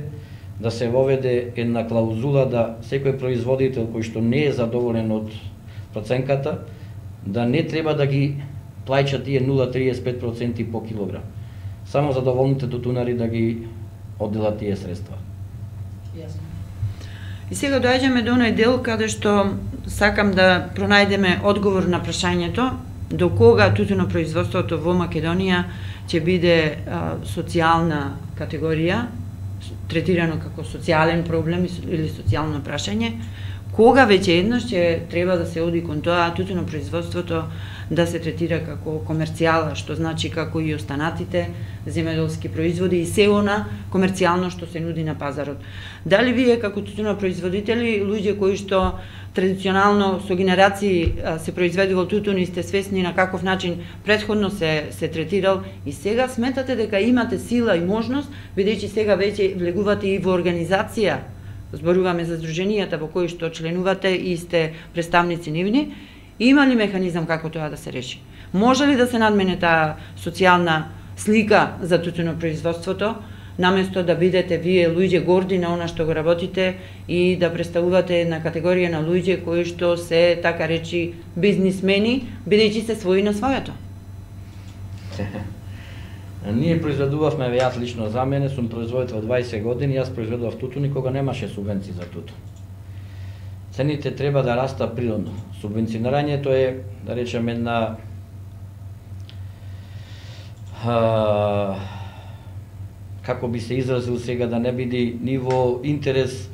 S3: да се воведе една клаузула да секој производител кој што не е задоволен од проценката, да не треба да ги плаќа тие 0,35% по килограм. Само задоволните тутунари да ги одделат тие средства.
S2: И сега доаѓаме до оној дел каде што сакам да пронајдеме одговор на прашањето до кога тутунопроизводството во Македонија ќе биде социјална категорија, третирано како социјален проблем или социјално прашање, кога веќе еднаш ќе треба да се оди кон тоа тутунопроизводството да се третира како комерцијала, што значи како и останатите земјоделски производи и се она комерцијално што се нуди на пазарот. Дали вие како тутунопроизводители, луѓе кои што традиционално со генерации се произведувал тутун и сте свесни на каков начин претходно се третирал и сега сметате дека имате сила и можност, бидејќи сега веќе влегувате и во организација, зборуваме за здруженијата во кои што членувате и сте представници нивни, има ли механизам како тоа да се реши? Може ли да се надмене таа социјална слика за тутунопроизводството, наместо да бидете вие луѓе горди на она што го работите и да представувате една категорија на луѓе кои што се, така речи, бизнисмени, бидејќи се своји на своето?
S3: Ние произведувавме, јас лично за мене, сум производител 20 години, јас произведував тутун и кога немаше субвенции за тутун. Цените треба да раста природно. Субвенционирањето е, да речем, една како би се изразил сега, да не биде ни во интерес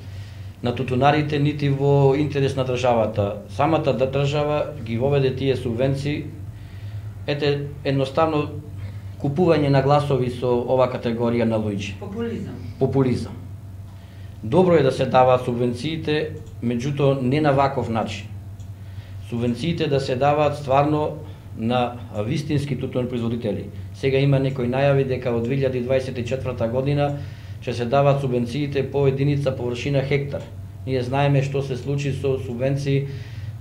S3: на тутунарите, нити во интерес на државата. Самата држава ги воведе тие субвенции, едноставно купување на гласови со ова категорија на луѓе. Популизам. Добро е да се даваат субвенциите, меѓутоа не на ваков начин. Субвенциите да се даваат стварно на вистински тутунопроизводители. Сега има некои најави дека од 2024 година ќе се даваат субвенциите по единица површина хектар. Ние знаеме што се случи со субвенции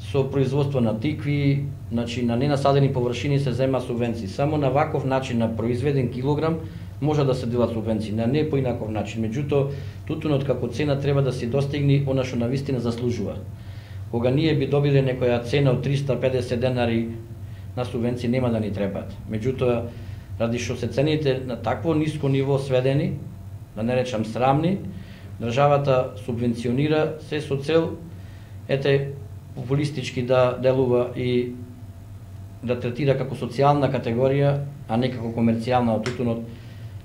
S3: со производство на тикви, значи на ненасадени површини се зема субвенции. Само на ваков начин, на произведен килограм, може да се делат субвенции, на не по инаков начин. Меѓутоа, тутунот како цена треба да се достигне она што навистина заслужува. Кога ние би добиле некоја цена од 350 денари на субвенции, нема да ни требаат. Меѓутоа, ради што се цените на такво ниско ниво сведени, да не речам срамни, државата субвенционира се со цел популистички да делува и да третира како социјална категорија, а не како комерцијална. Тутунот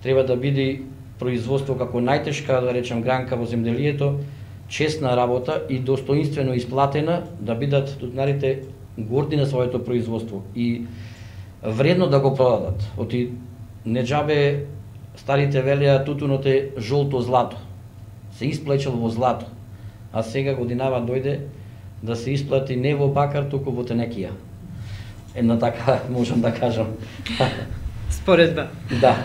S3: треба да биде производство како најтешка, да речем, гранка во земјделието, честна работа и достоинствено исплатена, да бидат тутунарите горди на своето производство и вредно да го продадат. Оти не џабе старите велеа тутунот е жолто злато. Се исплечел во злато, а сега годинава дојде да се исплати не во бакар, туку во тенекија. Една така можам да кажам.
S2: Споредба.
S3: Да.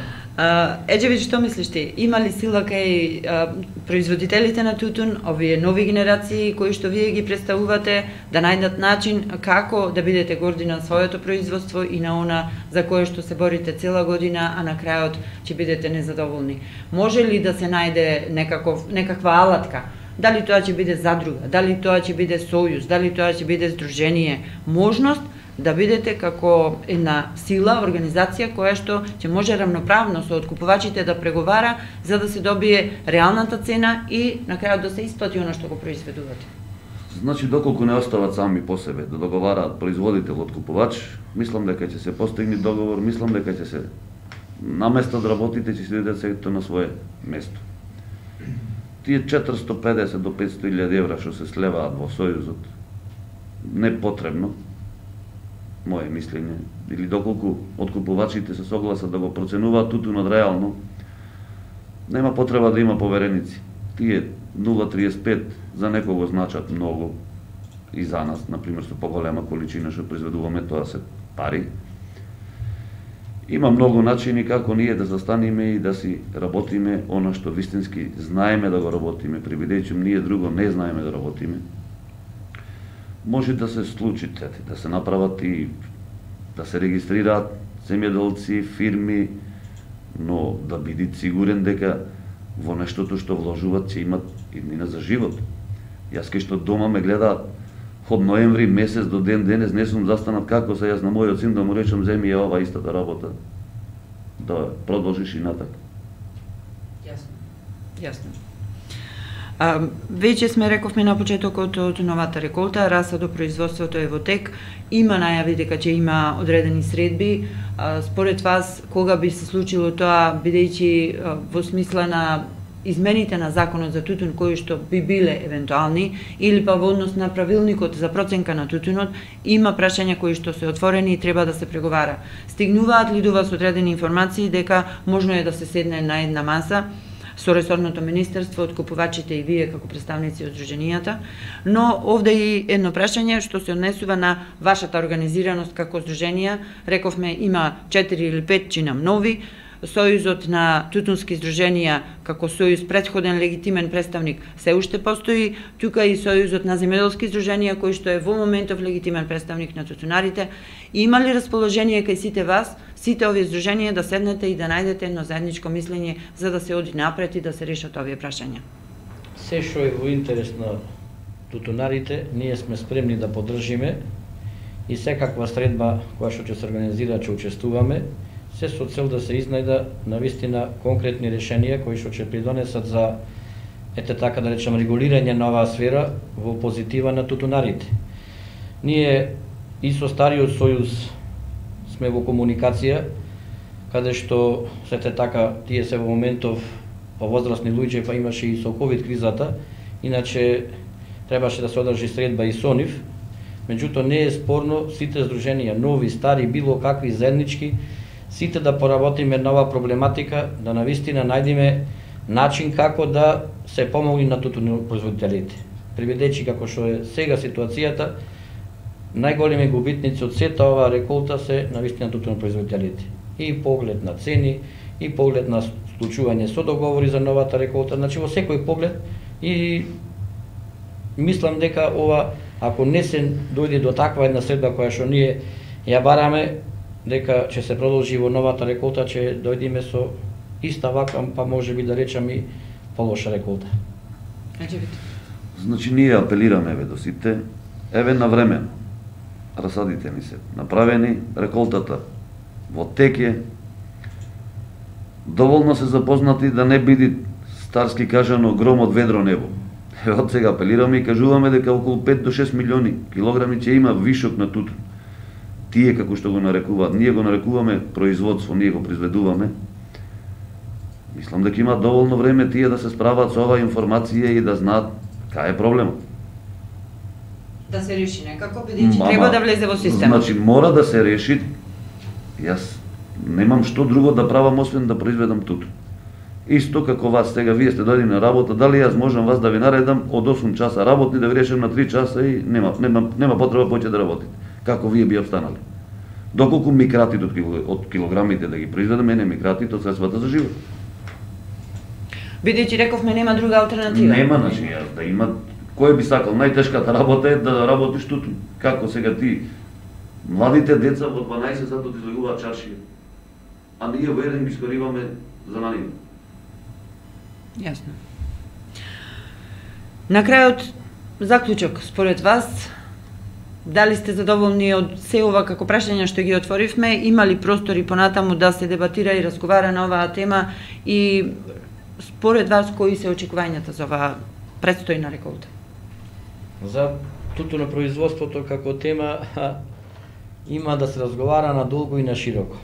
S2: Еджевич, што мислиш ти? Има ли сила кај производителите на тутун, овие нови генерации кои што вие ги представувате, да најдат начин како да бидете горди на своето производство и на она за кое што се борите цела година, а на крајот ќе бидете незадоволни? Може ли да се најде некаква алатка? Дали тоа ќе биде задруга, дали тоа ќе биде сојуз, дали тоа ќе биде здружение, можност да бидете како една сила, организација која што ќе може рамноправно со откупувачите да преговара за да се добие реалната цена и на крајот да се исплати оно што го произведувате.
S4: Значи, доколку не остават сами по себе да договараат производител откупувач, мислам дека ќе се постигне договор, мислам дека ќе се наместат работите, ќе се дадат сето на свое место. Тие 450 до 500.000 евра што се слеваат во Сојузот, непотребно, мое мислење, или доколку откупувачите се согласат да го проценуваат тутунот реално, нема потреба да има повереници. Тие 0,35 за некого значат многу и за нас, например, со поголема количина што произведуваме, тоа се пари. Има многу начини како ние да застанеме и да си работиме она што вистински знаеме да го работиме, бидејќи ние друго не знаеме да работиме. Може да се случи да се направат и да се регистрираат земјоделци, фирми, но да бидат сигурен дека во нештото што вложуваат ќе имат иднина за живот. Јас кај што дома ме гледаат од ноември месец до ден денес не сум застанат како се јас на мојот син да му речам земи е ова истата работа. Да продолжиш и натак.
S2: Јасно. Веќе сме рековме на почетокот од новата реколта, расадо производството е во тек, има најави дека ќе има одредени средби. Според вас, кога би се случило тоа, бидејќи во смисла на измените на законот за тутун кои што би биле евентуални, или па во однос на правилникот за проценка на тутунот, има прашања кои што се отворени и треба да се преговара. Стигнуваат ли до вас одредени информации дека можно е да се седне на една маса со ресорното министерство, откупувачите и вие како представници од здруженијата, но овде и едно прашање што се однесува на вашата организираност како здруженија. Рековме има 4 или 5 чинам нови, Сојузот на тутунски здруженија како сојуз претходен легитимен представник се уште постои, тука и Сојузот на земјоделски здруженија кој што е во моментов легитимен представник на тутунарите. Има ли расположение кај сите вас, сите овие здруженија да седнете и да најдете едно заедничко мислење за да се оди напред и да се решат овие прашања?
S3: Се што е во интерес на тутунарите, ние сме спремни да поддржиме и секаква средба која што ќе се организира ќе учествуваме, се со цел да се изнајда навистина конкретни решенија кои што ќе придонесат за така да речем регулирање на оваа сфера во позитива на тутунарите. Ние и со стариот сојуз сме во комуникација, каде што сете така тие се во моментов возрастни луѓе, па имаше и со ковид кризата, иначе требаше да се одржи средба и со нив. Меѓутоа не е спорно сите здруженија, нови, стари, било какви заеднички, сите да поработиме на оваа проблематика, да навистина најдеме начин како да се помогне на тутунопроизводителите. Приведечи како што е сега ситуацијата, најголеми губитници од сета оваа реколта се навистина тутунопроизводителите. И поглед на цени, и поглед на склучување со договори за новата реколта, значи во секој поглед, и мислам дека ова, ако не се дојде до таква една средба која што ние ја бараме, дека ќе се продолжи во новата реколта, ќе дојдеме со иста ваква, па може би да речам и полоша реколта.
S4: Значи ние апелираме до сите, еве на време, расадите ни се направени, реколтата во теке, доволно се запознати да не биде старски кажано гром од ведро небо. Еве од сега апелираме и кажуваме дека околу 5 до 6 милиони килограми ќе има вишок на тутун. Тие како што го нарекуваат, ние го нарекуваме производство, ние го произведуваме. Мислам дека има доволно време тие да се справат со оваа информација и да знаат кај е проблемот.
S2: Да се реши некако, бидејќи треба да влезе во системот.
S4: Значи мора да се реши. Јас немам што друго да правам освен да произведам тутун. Исто како вас сега, вие сте дојдени на работа, дали јас можам вас да ви наредам од 8 часа работни да ви решам на 3 часа и нема потреба повеќе да работите. Како вие би обстанали? Доколку ми кратите од килограмите да ги произведам, мене ми кратите од средствата за живот.
S2: Бидејќи рековме нема друга алтернатива.
S4: Нема, значи да има. Кој би сакал? Најтешката работа е да работиш тутун. Како сега ти младите деца во 12 сати излегуваат чаршија, а ние во еден ги скориваме за на нив.
S2: Јасно. На крајот, заклучок, според вас, дали сте задоволни од се ова како прашања што ги отворивме, има ли простори понатаму да се дебатира и разговара на оваа тема и според вас кои се очекувањата за оваа предстојна реколта?
S3: За тутунопроизводството како тема има да се разговара на долго и на широко.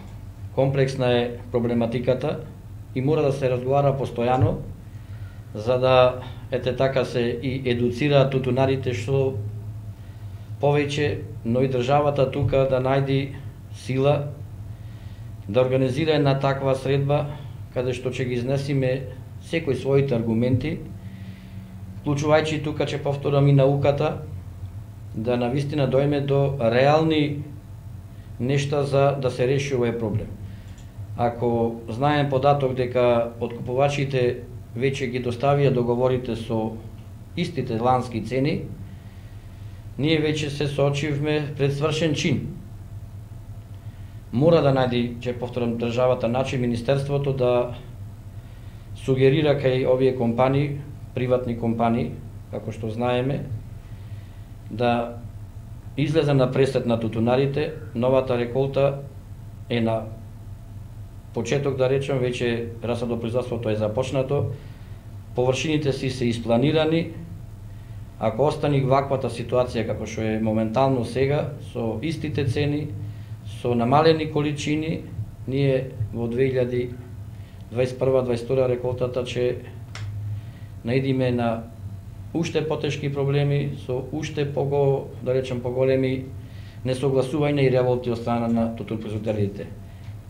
S3: Комплексна е проблематиката и мора да се разговара постојано, за да така се и едуцираат тутунарите што повеќе, но и државата тука да најди сила да организира една таква средба каде што ќе ги изнесиме секој своите аргументи, вклучувајќи тука, ќе повторам, и науката, да навистина дојме до реални нешта за да се реши овој проблем. Ако знаем податок дека откупувачите веќе ги доставија договорите со истите лански цени, ние веќе се соочивме пред свршен чин. Мора да најди, ќе повторам, државата начин, Министерството да сугерира кај овие компании, приватни компании, како што знаеме, да излезе на пресет на тутунарите. Новата реколта е на почеток, да речем, веќе расадопроизводството е започнато, површините си се испланирани. Ако остани ваквата ситуација како што е моментално сега, со истите цени, со намалени количини, ние во 2021-2022 реколтата ќе наидиме на уште потешки проблеми, со уште да речем поголеми несогласувања и револти од страна на тутунопроизводителите.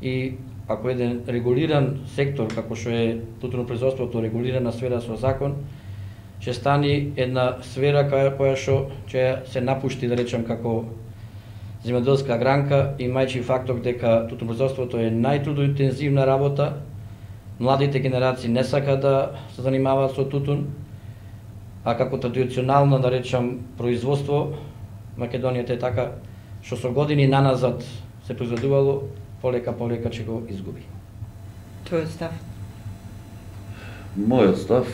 S3: И ако еден регулиран сектор како што е тутунопроизводството, регулирана сфера со закон, ќе стани една сфера која што ќе се напушти, да речем, како земјоделска гранка, имајќи фактор дека тутунопроизводството е најтрудоинтензивна работа, младите генерации не сака да се занимаваат со тутун, а како традиционално, да речем, производство, Македонијата е така, што со години наназад се произведувало, полека ќе го изгуби.
S2: Твојот став?
S4: Мојот став,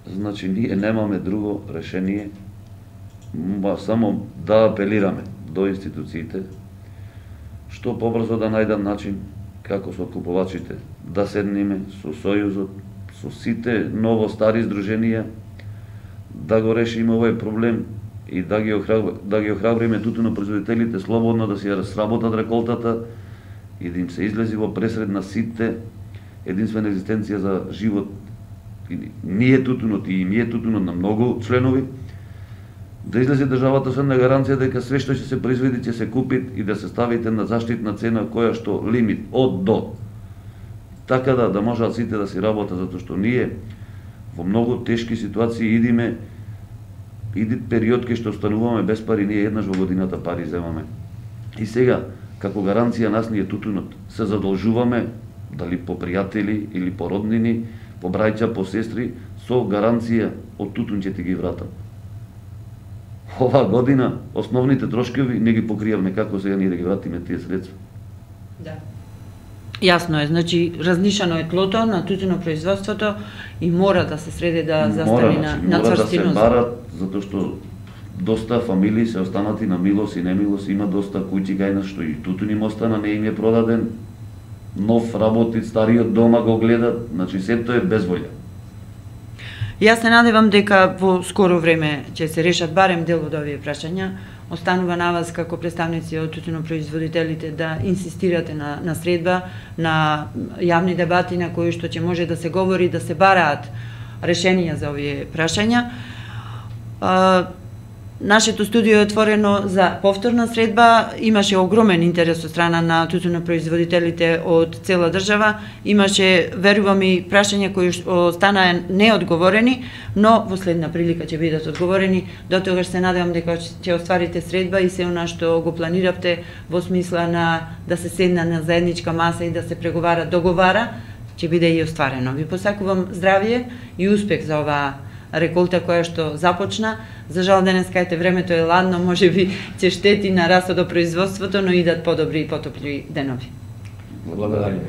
S4: значи, ние немаме друго решение, само да апелираме до институциите, што побрзо да најдат начин како со откупувачите да седниме со Сојузот, со сите ново-стари здруженија, да го решиме овој проблем и да ги охрабриме тутунопроизводителите слободно да си ја сработат реколтата и да им се излези во пресред на сите единствена екзистенција за живот. Ние тутунот и ние тутунот на многу членови, да излезе државата со една гаранција дека све што ќе се произведи ќе се купи и да се ставите на заштитна цена која што лимит од до. Така да можат сите да си работат, затоа што ние во многу тешки ситуации иди период кај што остануваме без пари, ние еднаш во годината пари земаме. И сега, како гаранција нас ние тутунот, се задолжуваме, дали по пријатели или по роднини, по браќа, по сестри, со гаранција од тутун ќе ти ги вратам. Оваа година основните трошкови не ги покријавме, како сега ние да ги вратиме тие средства.
S2: Да. Јасно е, значи разнишано е тлото на тутунопроизводството и мора да се среди да застани на цврстина.
S4: Мора да се барат, затоа што доста фамилии се останати на милост и немилост, има доста куќи кај нас што и тутун им остана, не им е продаден, нов работи, стариот дома го гледат, значи сето е безволја.
S2: Јас се надевам дека во скоро време ќе се решат барем дел од овие прашања. Останува на вас како представници од тутунопроизводителите да инсистирате на средба, на јавни дебати на кои што ќе може да се говори, да се бараат решенија за овие прашања. Нашето студио е отворено за повторна средба, имаше огромен интерес од страна на тутунопроизводителите од цела држава, имаше, верувам, и прашања кои останаа неодговорени, но во следна прилика ќе бидат одговорени. До тогаш се надевам дека ќе остварите средба и се она што го планиравте во смисла на да се седна на заедничка маса и да се преговара, договара, ќе биде и остварено. Ви посакувам здравје и успех за оваа реколта која што започна. За жал денеска времето е ладно, можеби ќе штети на расодопроизводството, но идат подобри и потопли денови.
S3: Благодарам.